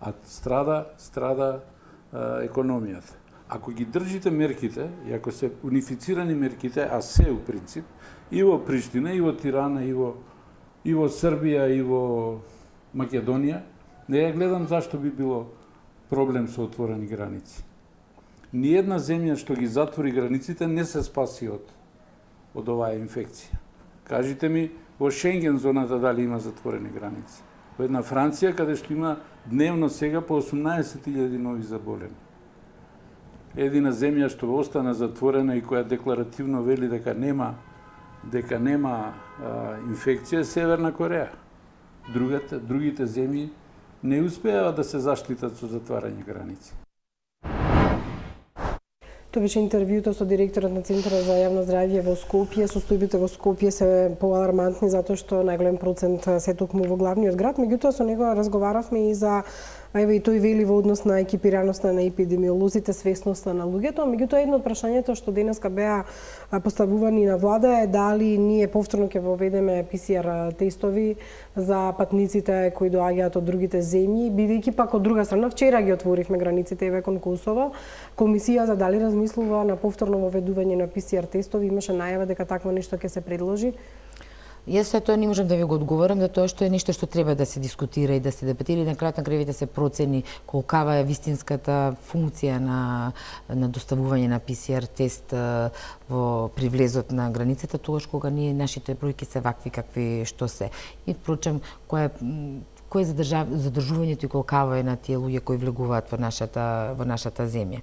А страда економијата. Ако ги држите мерките, и ако се унифицирани мерките, а се у принцип, и во Приштина, и во Тирана, и во Србија, и во Македонија, не ја гледам зашто би било проблем со отворени граници. Ниедна земја што ги затвори границите не се спаси од оваа инфекција. Кажите ми, во Шенген зоната дали има затворени граници? Во една Франција, каде што има дневно сега по 18.000 нови заболени. Едина земја што остана затворена и која декларативно вели дека нема инфекција е Северна Кореја. Другите земји не успеа да се заштитат со затварање граници. Тоа беше интервјуто со директорот на Центарот за јавно здравје во Скопје. Состојбите во Скопје се поалармантни затоа што најголем процент се токму во главниот град, меѓутоа со него разговаравме и за и тој вели во однос на екипираноста на епидемиолозите, свесноста на луѓето, меѓутоа едно од прашањето што денеска беа поставувани на влада е дали ние повторно ќе воведеме ПСР тестови за патниците кои доаѓаат од другите земји, бидејќи пак од друга страна вчера ги отворивме границите еве кон Косово. Комисија за дали размислува на повторно воведување на ПСР тестови, имаше најава дека такво нешто ќе се предложи. Јас тоа не можам да ви го одговорам, да тоа што е нешто што треба да се дискутира и да се дебатира и на крајот на крајот се процени колкава е вистинската функција на доставување на ПСР тест при влезот на границата, тогаш кога нашите бројки се вакви какви што се. И впрочем, кој е задржувањето и колкава е на тие луѓе кои влегуваат во нашата земја.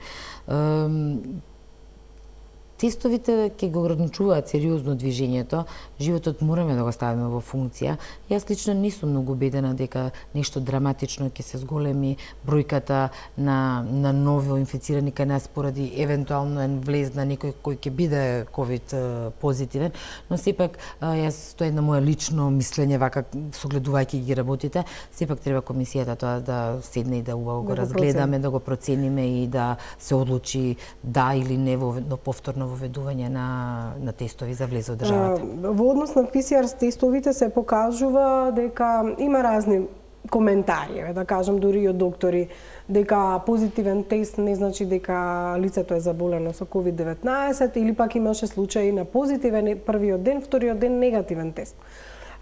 Тестовите ќе го ограничуваат сериозно движењето, животот мораме да го ставиме во функција. Јас лично не сум многу убедена дека нешто драматично ќе се зголеми бројката на ново инфицирани кај нас поради евентуално влез на некој кој ќе биде ковид позитивен, но сепак јас тоа е на моја лично мислење вака согледувајќи ги работите, сепак треба комисијата тоа да седне и да убаво го разгледаме, да го процениме и да се одлучи да или не во повторно воведување на тестови за влез во државата. Во однос на ПСР тестовите се покажува дека има разни коментари, да кажам дури и од доктори, дека позитивен тест не значи дека лицето е заболено со COVID-19 или пак имаше случаи на позитивен првиот ден, вториот ден негативен тест.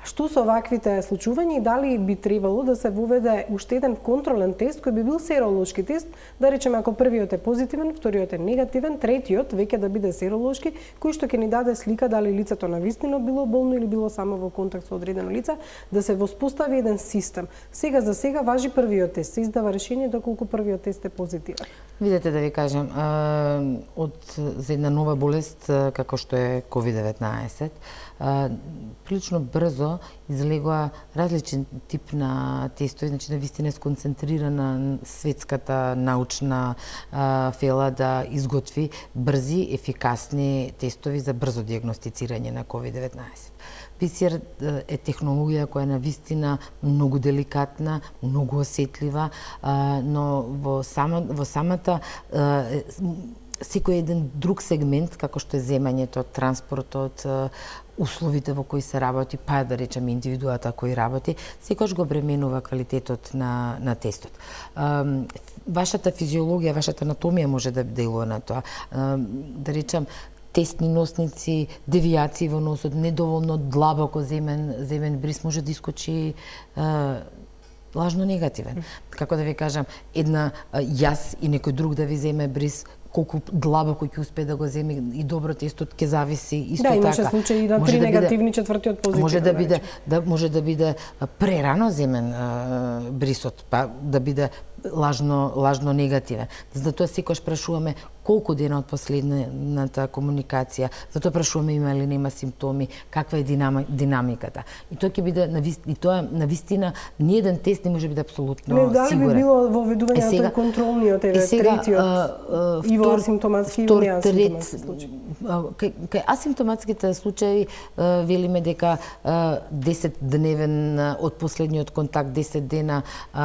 Што со ваквите случувања и дали би требало да се воведе уште еден контролен тест кој би бил серолошки тест, да речеме ако првиот е позитивен, вториот е негативен, третиот веќе да биде серолошки, кој што ќе ни даде слика дали лицето навистина било болно или било само во контакт со одредено лице, да се воспостави еден систем. Сега за сега важи првиот тест, се издава решение доколку првиот тест е позитивен. Видете да ви кажам, за една нова болест како што е COVID-19, прилично брзо излегува различен тип на тестови, значи навистина е сконцентрирана светската научна фела да изготви брзи, ефикасни тестови за брзо диагностицирање на COVID-19. ПСР е технологија која е навистина многу деликатна, многу осетлива, но во самата секој еден друг сегмент, како што е земањето, транспортот, условите во кои се работи, па да речеме индивидуата кој работи, секогаш го бременува квалитетот на тестот. Вашата физиологија, вашата анатомија може да делува на тоа. Да речем, тестни носници, девијации во носот, недоволно длабоко земен бриз може да искочи лажно негативен. Како да ви кажам, јас и некој друг да ви земе бриз, колку длабоко ќе успее да го земе и добро тестот ќе зависи исто така. Да, имаше случаи на 3 негативни, четвртиот позитивен. Може да биде прерано земен брисот, па да биде лажно негативен. Затоа секогаш прашуваме колку дена од последната комуникација, затоа прашуваме има или нема симптоми, каква е динамиката. И тоа ќе биде навистина ниеден тест не може биде апсолутно сигурен. Дали би било воведување на тој контролниот, третиот и во асимптоматски и неасимптоматски случаи? Кај асимптоматските случаи велиме дека 10-дневен од последниот контакт, 10 дена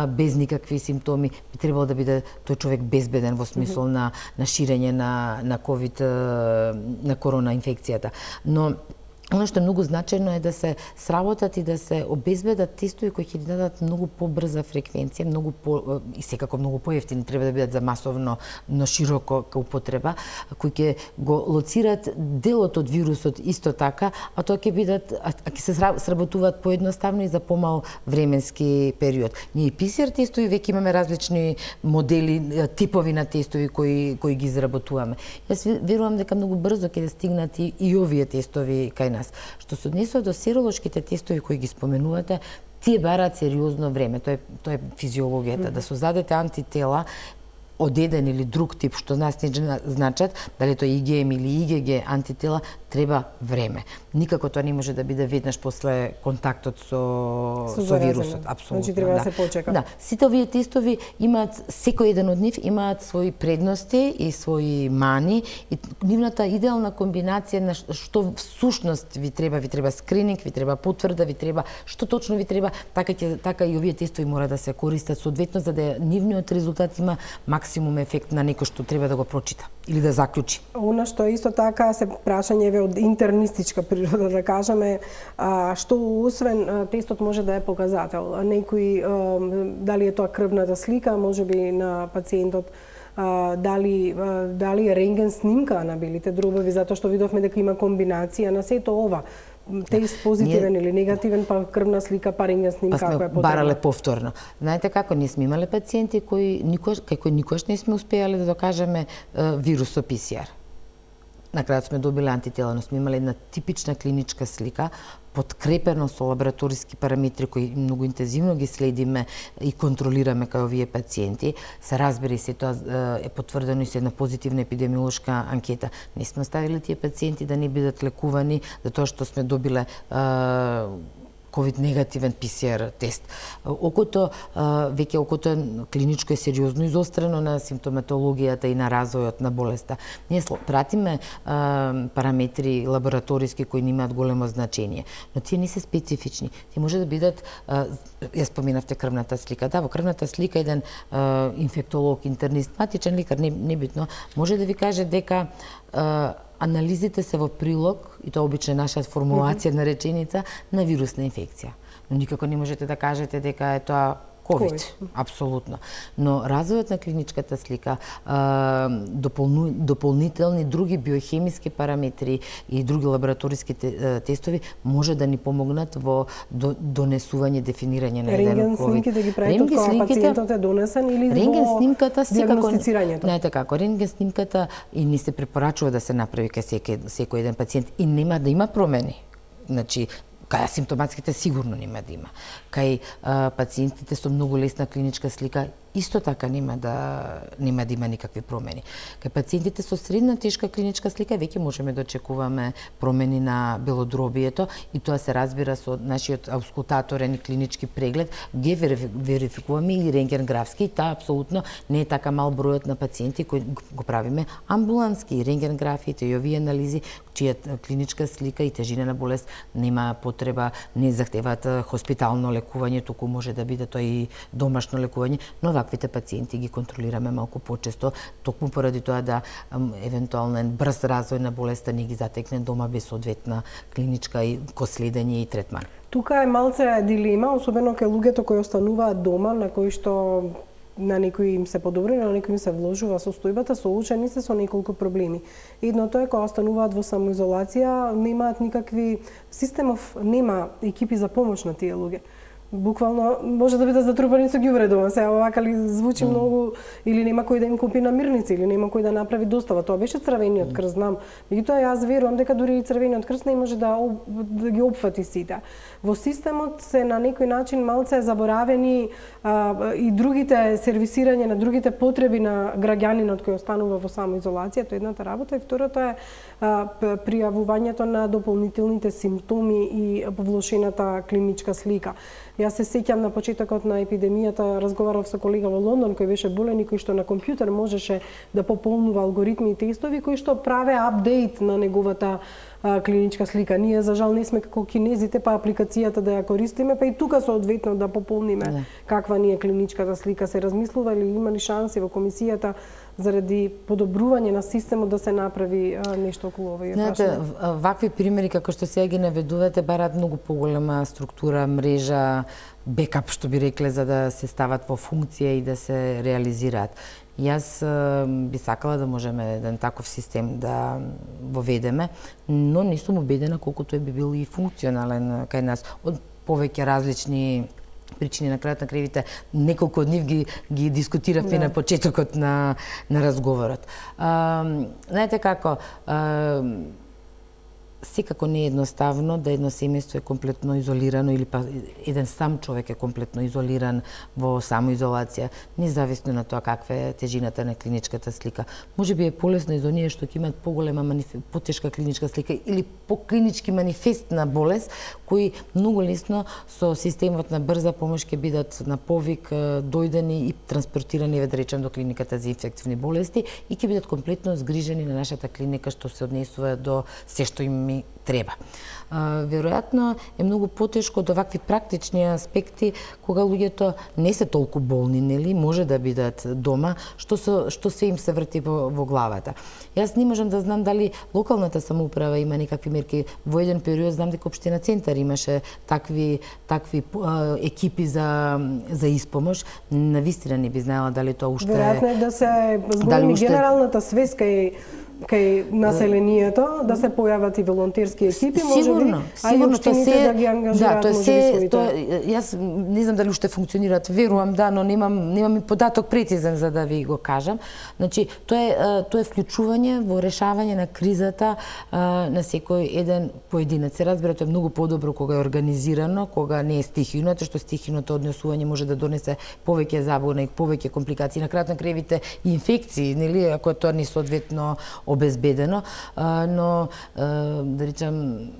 без никакви симптоми, би требало да биде тој човек безбеден во смисол на ширење на ковид, на корона инфекцијата. Но Оно што е многу значајно е да се сработат и да се обезбедат тестови кои ќе дадат многу побрза фреквенција, и секако многу поевтини, треба да бидат за масовно, но широко употреба, кои ќе го лоцират делот од вирусот исто така, а тоа ќе бидат, ќе се сработуваат поедноставно и за помал временски период. Ние PCR тестови веќе имаме различни модели, типови на тестови кои ги изработуваме. Јас верувам дека многу брзо ќе стигнат и овие тестови кај нас. Што се однесува до серолошките тестови кои ги споменувате, тие бараат сериозно време. Тоа е физиологијата. Да создадете антитела од еден или друг тип, што нас не значат, дали тоа IgM или IgG антитела, треба време. Никако тоа не може да биде веднаш после контактот со вирусот. Апсолутно. Значи треба да се почека. Да, сите овие тестови имаат, секој еден од нив имаат своји предности и своји мани, и нивната идеална комбинација на што всушност ви треба скрининг, ви треба потврда, ви треба што точно ви треба, така и овие тестови мора да се користат соодветно за да нивниот резултат има максимум ефект на некој што треба да го прочита или да заклучи. Она што исто така се прашање од интернистичка природа, да кажеме, што освен тестот може да е показател. Некои, дали е тоа крвната слика, можеби на пациентот, дали е рентген снимка на белите дробови, затоа што видовме дека има комбинација на сето ова. Тест позитивен или негативен, па крвна слика, па рентген снимка, ако е потребно. Барале повторно. Знаете како, ние сме имале пациенти кои никош не сме успеале да докажеме вирус со PCR. На крајот сме добиле антитела, но сме имале една типична клиничка слика, подкрепено со лабораториски параметри кои многу интензивно ги следиме и контролираме кај овие пациенти. Се разбери се тоа е потврдено и со една позитивна епидемиолошка анкета. Не сме оставиле тие пациенти да не бидат лекувани затоа што сме добиле COVID негативен PCR тест. Окото клиничко е сериозно изострено на симптоматологијата и на развојот на болеста. Ние пратиме параметри лабораториски кои немаат големо значење, но тие не се специфични. Тие може да бидат, ја споменавте крвната слика. Да, во крвната слика еден инфектолог, интернист, матичен лекар, небитно, може да ви каже дека анализите се во прилог, и тоа обично е наша формулација на реченица, на вирусна инфекција. Но никако не можете да кажете дека е тоа COVID. Апсолутно. Но развојот на клиничката слика, дополнителни други биохемиски параметри и други лабораториски тестови може да ни помогнат во донесување, дефинирање на еден COVID. Рентген снимките ги правите кога пациентот е донесен или во диагностицирањето? Знаете како, рентген снимката и ни се препорачува да се направи кај секој еден пациент и нема да има промени. Значи, кај асимптоматските сигурно нема да има. Кај пациентите со многу лесна клиничка слика исто така нема да има никакви промени. Кај пациентите со средна тешка клиничка слика веќе можеме да очекуваме промени на белодробието и тоа се разбира со нашиот аускултаторен клинички преглед, ги верификуваме и рентгенграфски, и таа апсолутно не е така мал бројот на пациенти кои го правиме амбулански рентгенграфиите и овие анализи чија клиничка слика и тежина на болест нема потреба, не захтеваат хоспитално лекување, туку може да биде тоа и домашно лекување, но ваквите пациенти ги контролираме малку почесто, токму поради тоа да евентуален брз развој на болеста не ги затекне дома без соодветна клиничка и следење и третман. Тука е малце дилема, особено кај луѓето кои остануваат дома, на кои што на некои им се подобри, на некои им се вложува состојбата, соочени се со неколку проблеми. Едното е кога остануваат во самоизолација, немаат никакви системов, нема екипи за помош на тие луѓе. буквално може да биде затрупани со ѓубре дома. Сега овака ли звучи многу, или нема кој да им купи намирници, или нема кој да направи достава. Тоа беше Црвениот крст, знам. Меѓутоа јас верувам дека дури и Црвениот крст не може да ги опфати сите. Во системот се на некој начин малце заборавени и другите сервисирање на другите потреби на граѓанинот кој останува во самоизолација, тоа е едната работа, и второто е пријавувањето на дополнителните симптоми и влошената клиничка слика. Јас се сеќам на почетокот на епидемијата, разговарав со колега во Лондон кој беше болен и кој што на компјутер можеше да пополнува алгоритми и тестови кои што праве апдейт на неговата клиничка слика. Ние за жал не сме како кинезите, па апликацијата да ја користиме, па и тука соодветно да пополниме каква ни е клиничката слика. Се размислува ли, има ли шанси во комисијата заради подобрување на системот да се направи нешто околу овој прашање? Вакви примери како што сега ги наведувате бараат многу поголема структура, мрежа, бекап што би рекле, за да се стават во функција и да се реализираат. Јас би сакала да можеме еден таков систем да воведеме, но не сум убедена колку тој би бил и функционален кај нас. Од повеќе различни причини, на крајот на кривите, неколку од нив ги дискутиравме на почетокот на разговорот. Знаете како, секако не е едноставно да едно семејство е комплетно изолирано или па еден сам човек е комплетно изолиран во самоизолација, независно на тоа каква е тежината на клиничката слика. Може би е полесно и за оние што ќе имаат поголема потешка клиничка слика или поклинички манифест на болест, кои многу лесно со системот на брза помош ќе бидат на повик дојдени и транспортирани, да речем, до клиниката за инфективни болести и ќе бидат комплетно згрижени на нашата клиника што се однесува до се што им треба. Веројатно е многу потешко од овакви практични аспекти кога луѓето не се толку болни, нели, може да бидат дома, што се им се врти во главата. Јас не можам да знам дали локалната самоуправа има некакви мерки. Во еден период знам дека општина Центар имаше такви екипи за испомош. Навистина не би знаела дали тоа уште веројатно е да се зголеми генералната свеска и кај населението, да се појават и волонтерски екипи, може би, а и општините да ги ангажираат, може би, своите. Јас не знам дали уште функционираат, верувам да, но немам и податок прецизен за да ви го кажам. Значи, тоа е вклучување во решавање на кризата на секој еден поединец. Се разбира, тоа е многу подобро кога е организирано, кога не е стихино, тоа што стихиното однесување може да донесе повеќе забуна и повеќе компликации, на крајот на кревите и инфекции, нели, ако тоа не соодветно обезбедено, но да речам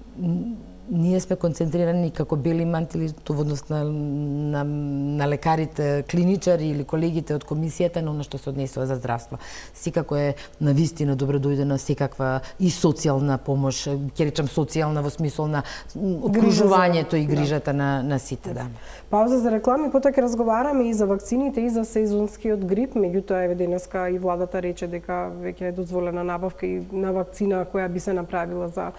ние сме концентрирани како бели мантили во однос на лекарите, клиничари или колегите од комисијата на она што се однесува за здравство. Секако е навистина добродојдена секаква и социјална помош, ќе речам социјална во смисол на окружувањето и грижата на сите, да. Пауза за реклами, потоа ќе разговараме и за вакцините и за сезонскиот грип, меѓутоа еве денеска и владата рече дека веќе е дозволена набавка и на вакцина која би се направила за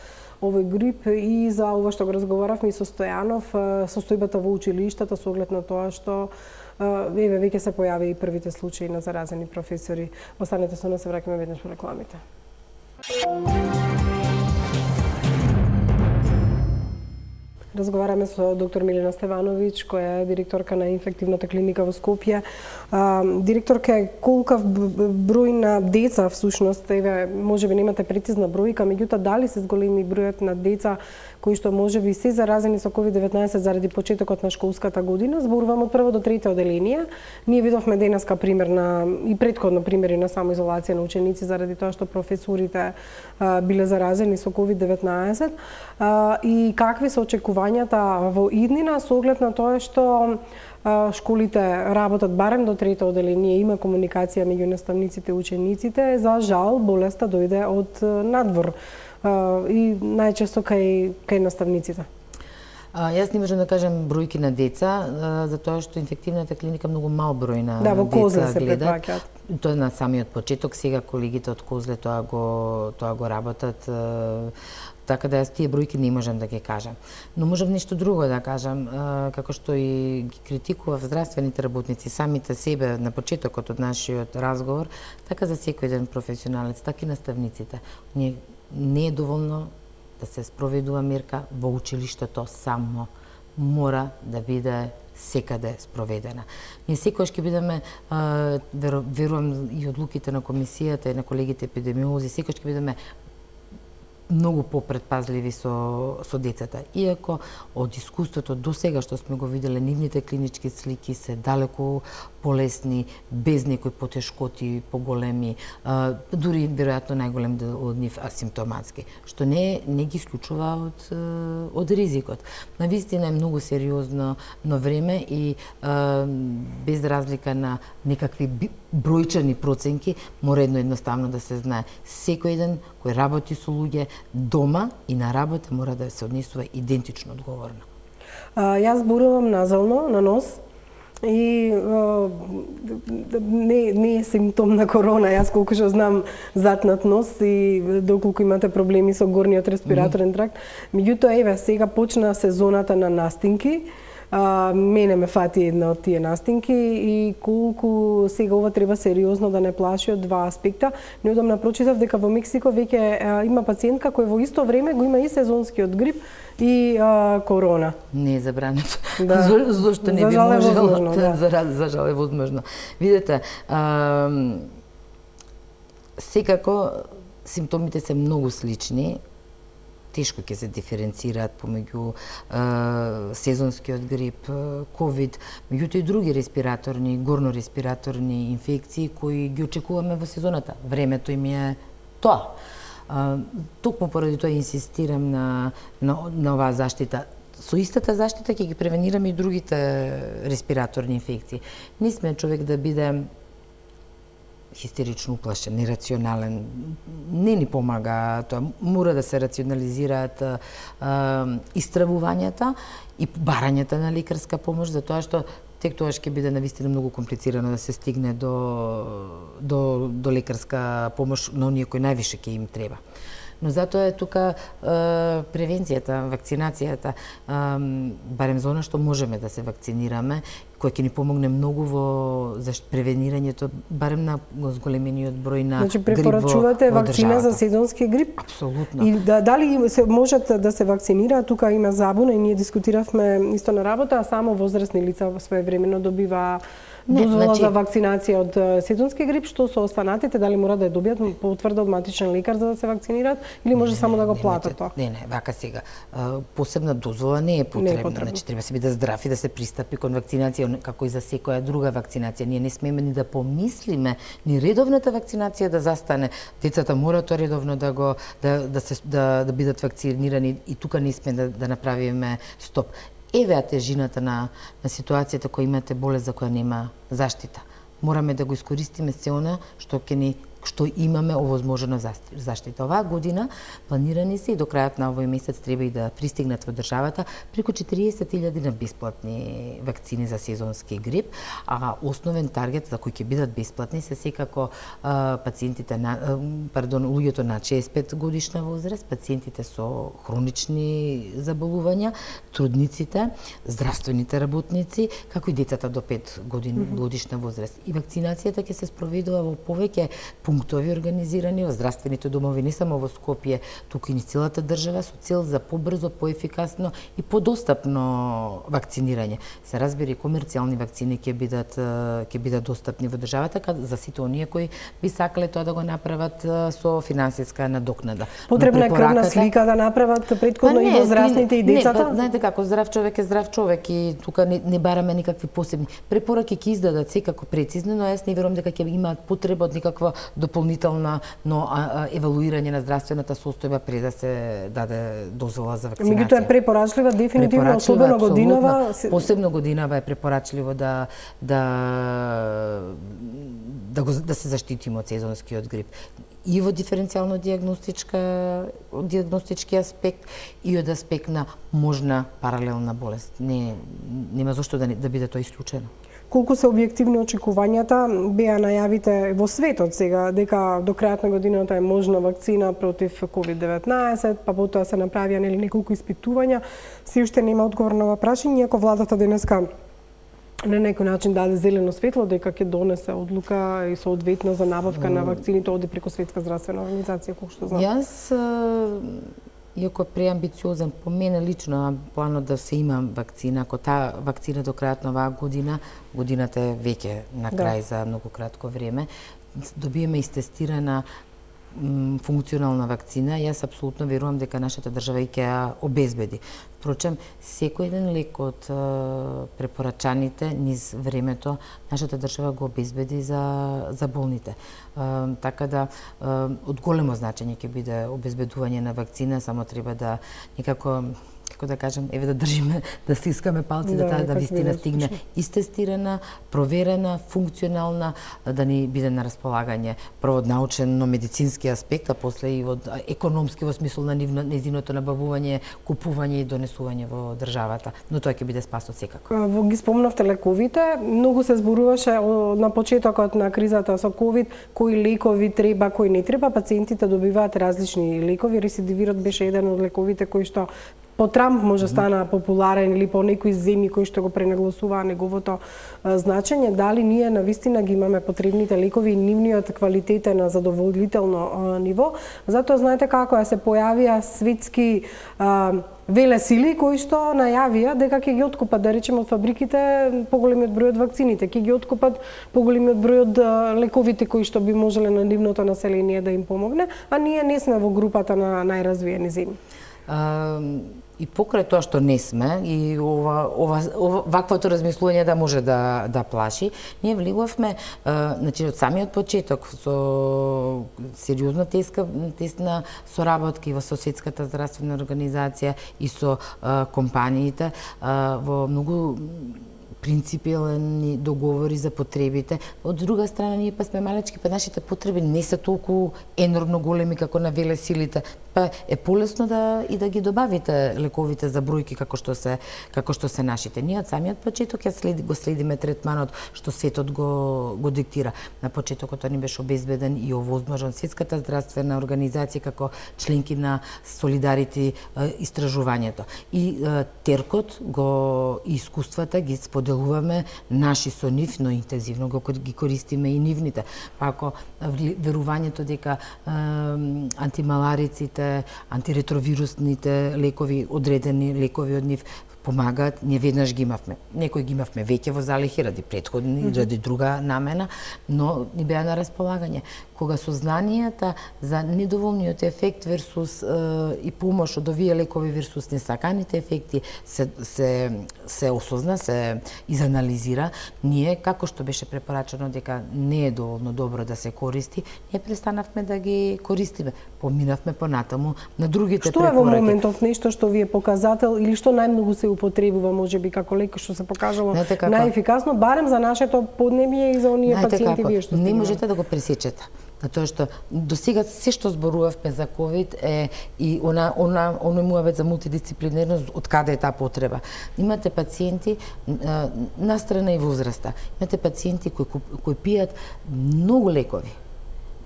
овој грип и за ова што го разговаравме и со Стојанов, состојбата во училиштата со оглед на тоа што еве веќе се појави и првите случаи на заразени професори. Останете со нас, се враќаме веднаш по рекламите. Разговараме со доктор Милена Стевановиќ, која е директорка на инфективната клиника во Скопје. Директорка, колкав број на деца всушност, еве можеби немате прецизна бројка, меѓутоа дали се зголеми бројот на деца кои што можеби се заразени со COVID-19 заради почетокот на школската година? Зборувам од прво до трето оделение. Ние видовме денеска пример и предходно примери на самоизолација на ученици заради тоа што професорите биле заразени со COVID-19. И какви се очекувањата во иднина со оглед на тоа што школите работат барем до трето оделение, има комуникација меѓу наставниците и учениците. За жал, болеста дојде од надвор и најчесто кај наставниците. Јас не можам да кажам бројки на деца, затоа што инфективната клиника многу мал број на во Козле деца се гледат. препаќаат. Тоа на самиот почеток, сега колегите од Козле тоа го работат. Така да јас тие бројки не можам да ги кажам. Но можам нешто друго да кажам, како што и ги критикував здравствените работници самите себе на почетокот од нашиот разговор, така за секој еден професионалец, така и наставниците. Не е доволно да се спроведува мерка во училиштето само. мора да биде секаде спроведена. Ние секогаш ќе бидеме, верувам и одлуките на комисијата и на колегите епидемиолози, секогаш ќе бидеме многу попредпазливи со децата. Иако од искуството до сега што сме го виделе, нивните клинички слики се далеку полесни, без некои потешкоти поголеми, дури веројатно најголем од нив асимптоматски, што не ги исклучува од ризикот. Навистина е многу сериозно на време и без разлика на некакви бројчани проценки, мора едноставно да се знае. Секој еден кој работи со луѓе дома и на работа мора да се однесува идентично одговорно. Јас зборувам назално, на нос, и не е симптом на корона. Јас колку што знам затнат нос и доколку имате проблеми со горниот респираторен тракт. Меѓутоа, еве, сега почна сезоната на настинки. Мене ме фати една од тие настинки и колку сега ова треба сериозно да не плаши од два аспекта. Неодамна прочитав дека во Мексико веќе има пациентка која во исто време го има и сезонскиот грип и корона. Не е забрането. Да. Зошто не би можело? За жал е возможно. Видете, секако симптомите се многу слични. Тешко ќе се диференцираат помеѓу сезонскиот грип, ковид, меѓутоа и други респираторни, горно-респираторни инфекции кои ги очекуваме во сезоната. Времето им е тоа. Токму поради тоа инсистирам на оваа заштита. Со истата заштита ќе ги превенираме и другите респираторни инфекции. Не сме човек да биде хистерично уплашен, нерационален. Не ни помага тоа. Мора да се рационализираат истравувањата и барањата на лекарска помош, затоа што тек тогаш ќе биде навистина многу комплицирано да се стигне до лекарска помош на оние кои највише ќе им треба. Но затоа е тука превенцијата, вакцинацијата, барем за она што можеме да се вакцинираме, кој ќе ни помогне многу во превенирањето, барем на зголемениот број на грип во државата. Значи препорачувате вакцина за сезонски грип? Апсолутно. И дали се можат да се вакцинираат? Тука има забуна и ние дискутиравме исто на работа, а само возрастни лица своевремено добива дозвола за вакцинација од сезонски грип, што со останатите, дали мора да ја добијат потврда од матичен лекар за да се вакцинираат или може само да го платат тоа? Не, вака сега. Посебна дозвола не е потребна. Значи треба се биде здрав и да се пристапи кон вакцинација како и за секоја друга вакцинација. Ние не смееме ни да помислиме ни редовната вакцинација да застане. Децата мора тоа редовно да бидат вакцинирани и тука не сме да направиме стоп. Еве тежината на ситуацијата која имате болест за која нема заштита. Мораме да го искористиме се она што имаме овозможено заштита. Оваа година планирани се и до крајот на овој месец треба и да пристигнат во државата преку 40.000 на бесплатни вакцини за сезонски грип, а основен таргет за кој ќе бидат бесплатни се секако луѓето на 65 годишна возраст, пациентите со хронични заболувања, трудниците, здравствените работници, како и децата до 5 годишна возраст. И вакцинацијата ќе се спроведува во повеќе пунктови организирани во здравствените домови, не само во Скопје, туку и низ целата држава, со цел за побрзо, поефикасно и подостапно вакцинирање. Се разбира, комерцијални вакцини ќе бидат достапни во државата за сите оние кои би сакале тоа да го направат со финансиска надокнада. Потребна е крвна слика да направат претходно и возрастните и децата? Не, знаете како, здрав човек е здрав човек и тука не бараме никакви посебни препораки, ќе издадат секако прецизно, но јас не верувам дека ќе имаат потреба од никаква дополнителна евалуирање на здравствената состојба пред да се даде дозвола за вакцинација. Меѓутоа е препорачлива дефинитивно, особено годинава. Посебно годинава е препорачливо да се заштитиме од сезонскиот грип. И во диференцијално диагностички аспект и од аспект на можна паралелна болест. Нема зошто да биде тоа исклучено. Колку се објективни очекувањата, беа најавите во светот сега дека до крајот на годината е можна вакцина против COVID-19, па потоа се направија неколку испитувања, се уште нема одговор на ова прашање, иако владата денеска на некој начин даде зелено светло дека ќе донесе одлука и соодветно за набавка на вакцините оди преку Светска здравствена организација, колку што знам. Јас иако е преамбициозен, по мене лично планот да се има вакцина, ако таа вакцина до крајот на оваа година, годината е веќе на крај за многу кратко време, добиеме истестирана функционална вакцина, јас апсолутно верувам дека нашата држава ќе ја обезбеди. Впрочем, секој еден лек од препорачаните низ времето, нашата држава го обезбеди за болните. Така да, од големо значење ќе биде обезбедување на вакцина, само треба да некако, како да кажем, еве да држиме, да стискаме палци да таа вистина стигне истестирана, проверена, функционална, да ни биде на располагање прво од научно-медицински аспект, а после и од економски во смисол на нејзиното набавување, купување и донесување во државата. Но тоа ќе биде спас од секако. Ги спомнавте лековите, многу се зборуваше на почетокот на кризата со ковид, кои лекови треба, кои не треба, пациентите добиваат различни лекови, рецидивирот беше еден од лековите кои што по Трамп може стана популарен или по некои земји кои што го пренагласуваа неговото значење, дали ние навистина ги имаме потребните лекови и нивниот квалитет е на задоволително ниво. Затоа знаете како се појавија светски велесили кои што најавија дека ќе ги откупат, да речеме, од фабриките поголемиот број од вакцините, ќе ги откупат поголемиот број од лековите кои што би можеле на нивното население да им помогне, а ние не сме во групата на најразвиени земји. И покрај тоа што не сме, и ваквото размислување да може да плаши, ние влегувавме, значи, од самиот почеток со сериозно тесна соработка и со Светската здравствена организација и со компаниите во многу принципиелни договори за потребите. Од друга страна, ние па сме малечки, па нашите потреби не се толку енормно големи како на велесилите. Па е полесно да ги добавите лековите за бројки како што се нашите. Ние од самиот почеток го следиме третманот што светот го диктира. На почетокот тоа ни беше обезбеден и овозможен Светската здравствена организација како членки на Солидарити истражувањето. И теркот и искуствата ги споделуваме наши со нив, но интензивно ги користиме и нивните. Па ако верувањето дека антималариците, антиретровирусните лекови, одредени лекови од нив помагаат, ние веднаш ги имавме. Некои ги имавме веќе во залихи ради претходни, ради друга намена, но ни беа на располагање. Кога сознанијата за недоволниот ефект версус и помош од овие лекови версус несаканите ефекти се осозна, се изанализира, ние, како што беше препорачано дека не е доволно добро да се користи, ние престанавме да ги користиме. Поминавме понатаму на другите препораки. Што е во моментов нешто што ви е показател или што најмногу се употребува, можеби како лек што се покажало најефикасно, барем за нашето поднебје и за оние пациенти вие што не можете да го пресечете. Затоа што до сега се што зборувавме за ковид е и оној муавет за мултидисциплинерност, од каде е таа потреба. Имате пациенти настрана и возраста. Имате пациенти кои пијат многу лекови.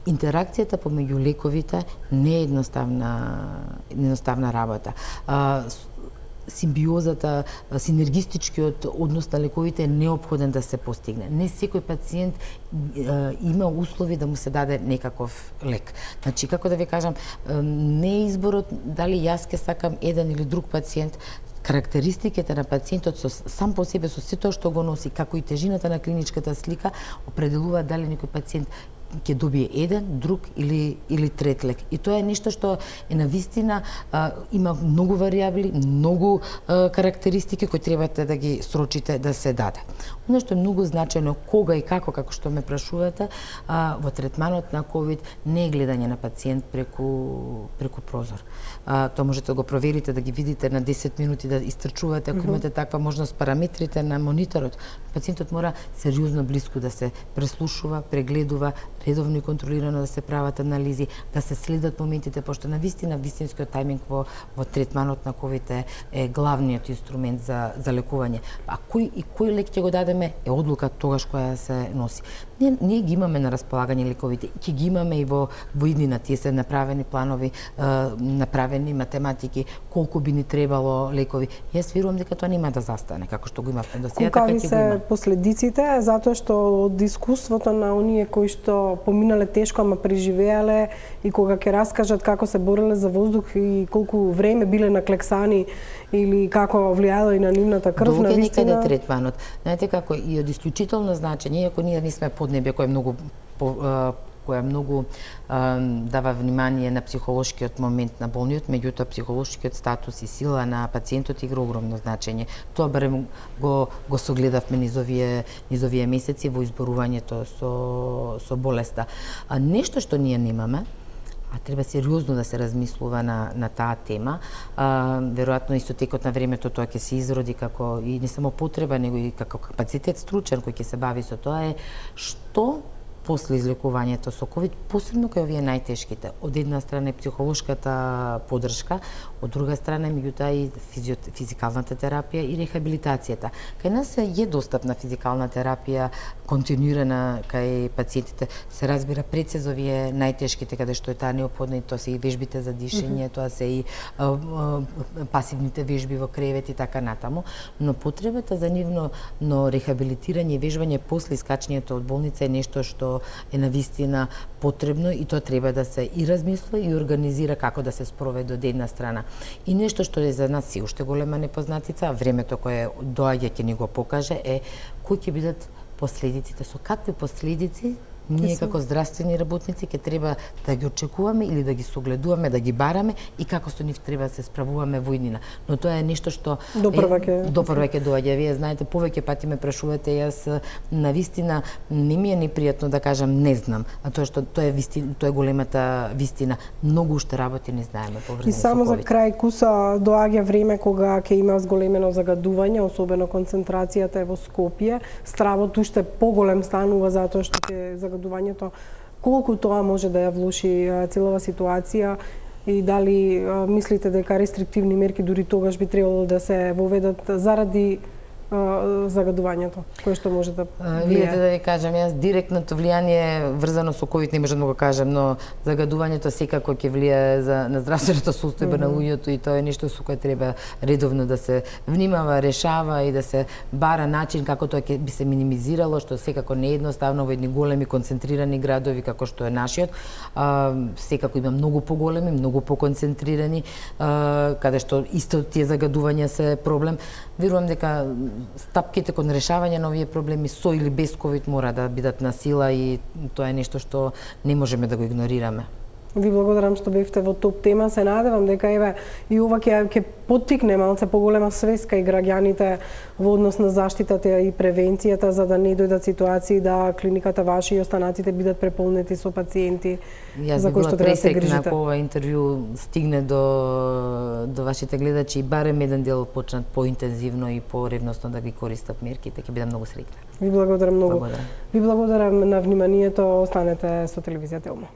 Интеракцијата помеѓу лековите не е едноставна работа. Симбиозата, синергистичкиот однос на лековите е неопходен да се постигне. Не секој пациент има услови да му се даде некаков лек. Значи, како да ви кажам, не е изборот дали јас ке сакам еден или друг пациент, карактеристиките на пациентот сам по себе со сето што го носи, како и тежината на клиничката слика, определува дали некој пациент ќе добие еден, друг или трет лек. И тоа е нешто што е навистина, има многу варијабли, многу карактеристики кои требате да ги срочите да се даде. Оно што е многу значајно кога и како што ме прашувате, во третманот на ковид не е гледање на пациент преку прозор. Тоа можете да го проверите, да ги видите на 10 минути, да истрчувате, ако имате таква можност, параметрите на мониторот. Пациентот мора сериозно близко да се преслушува, прегледува, редовно и контролирано да се прават анализи, да се следат моментите, пошто на вистинскиот тајминг во третманот на ковид е главниот инструмент за лекување. А кој лек ќе го дадеме е одлука тогаш која се носи. Ние ги имаме на располагање лековите, ќе ги имаме и во иднина, тие се направени планови, направени математики, колку би ни требало лекови. Јас верувам дека тоа нема да застане, како што го имавме до сега, така ќе го има. Какви се последиците, затоа што од искуството на оние кои што поминале тешко, ама преживеале и кога ќе раскажат како се бореле за воздух и колку време биле наклексани или како влијало и на нивната крв, на вистина. Некаде третманот. Знаете како и од исклучително значење, иако ние не сме поднебје кој е многу дава внимание на психолошкиот момент на болниот, меѓутоа психолошкиот статус и сила на пациентот игра огромно значење. Тоа барем го согледавме низ овие месеци во изборувањето со болеста. Нешто што ние немаме, а треба сериозно да се размислува на таа тема. Веројатно исто текот на времето тоа ќе се изроди како и не само потреба, него и како капацитет стручен кој ќе се бави со тоа е што после излекувањето со ковид, посебно кај овие најтешките. Од една страна е психолошката поддршка, од друга страна меѓутоа и физикалната терапија и рехабилитацијата. Кај нас е достапна физикална терапија, континуирана кај пациентите. Се разбира пред се за овие најтешките, каде што е таа неопходна, и тоа се и вежбите за дишење, тоа се и пасивните вежби во кревет и така натаму, но потребата за нивно рехабилитирање и вежбање после искачањето од болница е нешто што е навистина потребно и тоа треба да се и размисли и организира како да се спроведе од една страна. И нешто што е за нас се уште голема непознатица, времето кое доаѓа ќе ни го покаже, е кои ќе бидат последиците, со какви последици ние како здравствени работници ќе треба да ги очекуваме или да ги согледуваме, да ги бараме и како со нив треба да се справуваме во иднина. Но тоа е нешто што допрва ќе доаѓа. Вие знаете, повеќе пати ме прашувате, јас навистина не ми е непријатно да кажам не знам, а тоа што тоа е големата вистина. Многу уште работи не знаеме поврзани со ковид. И само за крај куса доаѓа време кога ќе има зголемено загадување, особено концентрацијата е во Скопје. Стравот уште поголем станува затоа што ќе загадувањето, колку тоа може да ја влоши целава ситуација и дали мислите дека рестриктивни мерки дури тогаш би требало да се воведат заради загадувањето, кое што може да влијае? Видите, да ви кажам, јас директното влијание врзано со ковид не можам да го кажам, но загадувањето секако ќе влијае на здравственото состојба на луѓето и тоа е нешто со кое треба редовно да се внимава, решава и да се бара начин како тоа ќе би се минимизирало, што секако не е едноставно во едни големи концентрирани градови како што е нашиот. Секако има многу поголеми, многу поконцентрирани, каде што исто тие загадувања се проблем. Верувам дека стапките кон решавање на овие проблеми со или без ковид мора да бидат на сила и тоа е нешто што не можеме да го игнорираме. Ви благодарам што бевте во топ тема. Се надевам дека и ова ќе поттикне малце поголема свест кај граѓаните во однос на заштитата и превенцијата, за да не дојдат ситуации да клиниката ваша и останатите бидат преполнети со пациенти за кои што треба да се грижите. Јас би била пресекна ако ова интервју стигне до вашите гледачи и барем еден дел почнат поинтензивно и поревносно да ги користат мерките, ќе бидам многу среќна. Ви благодарам многу. Ви благодарам на вниманието. Останете со телевизија Телма.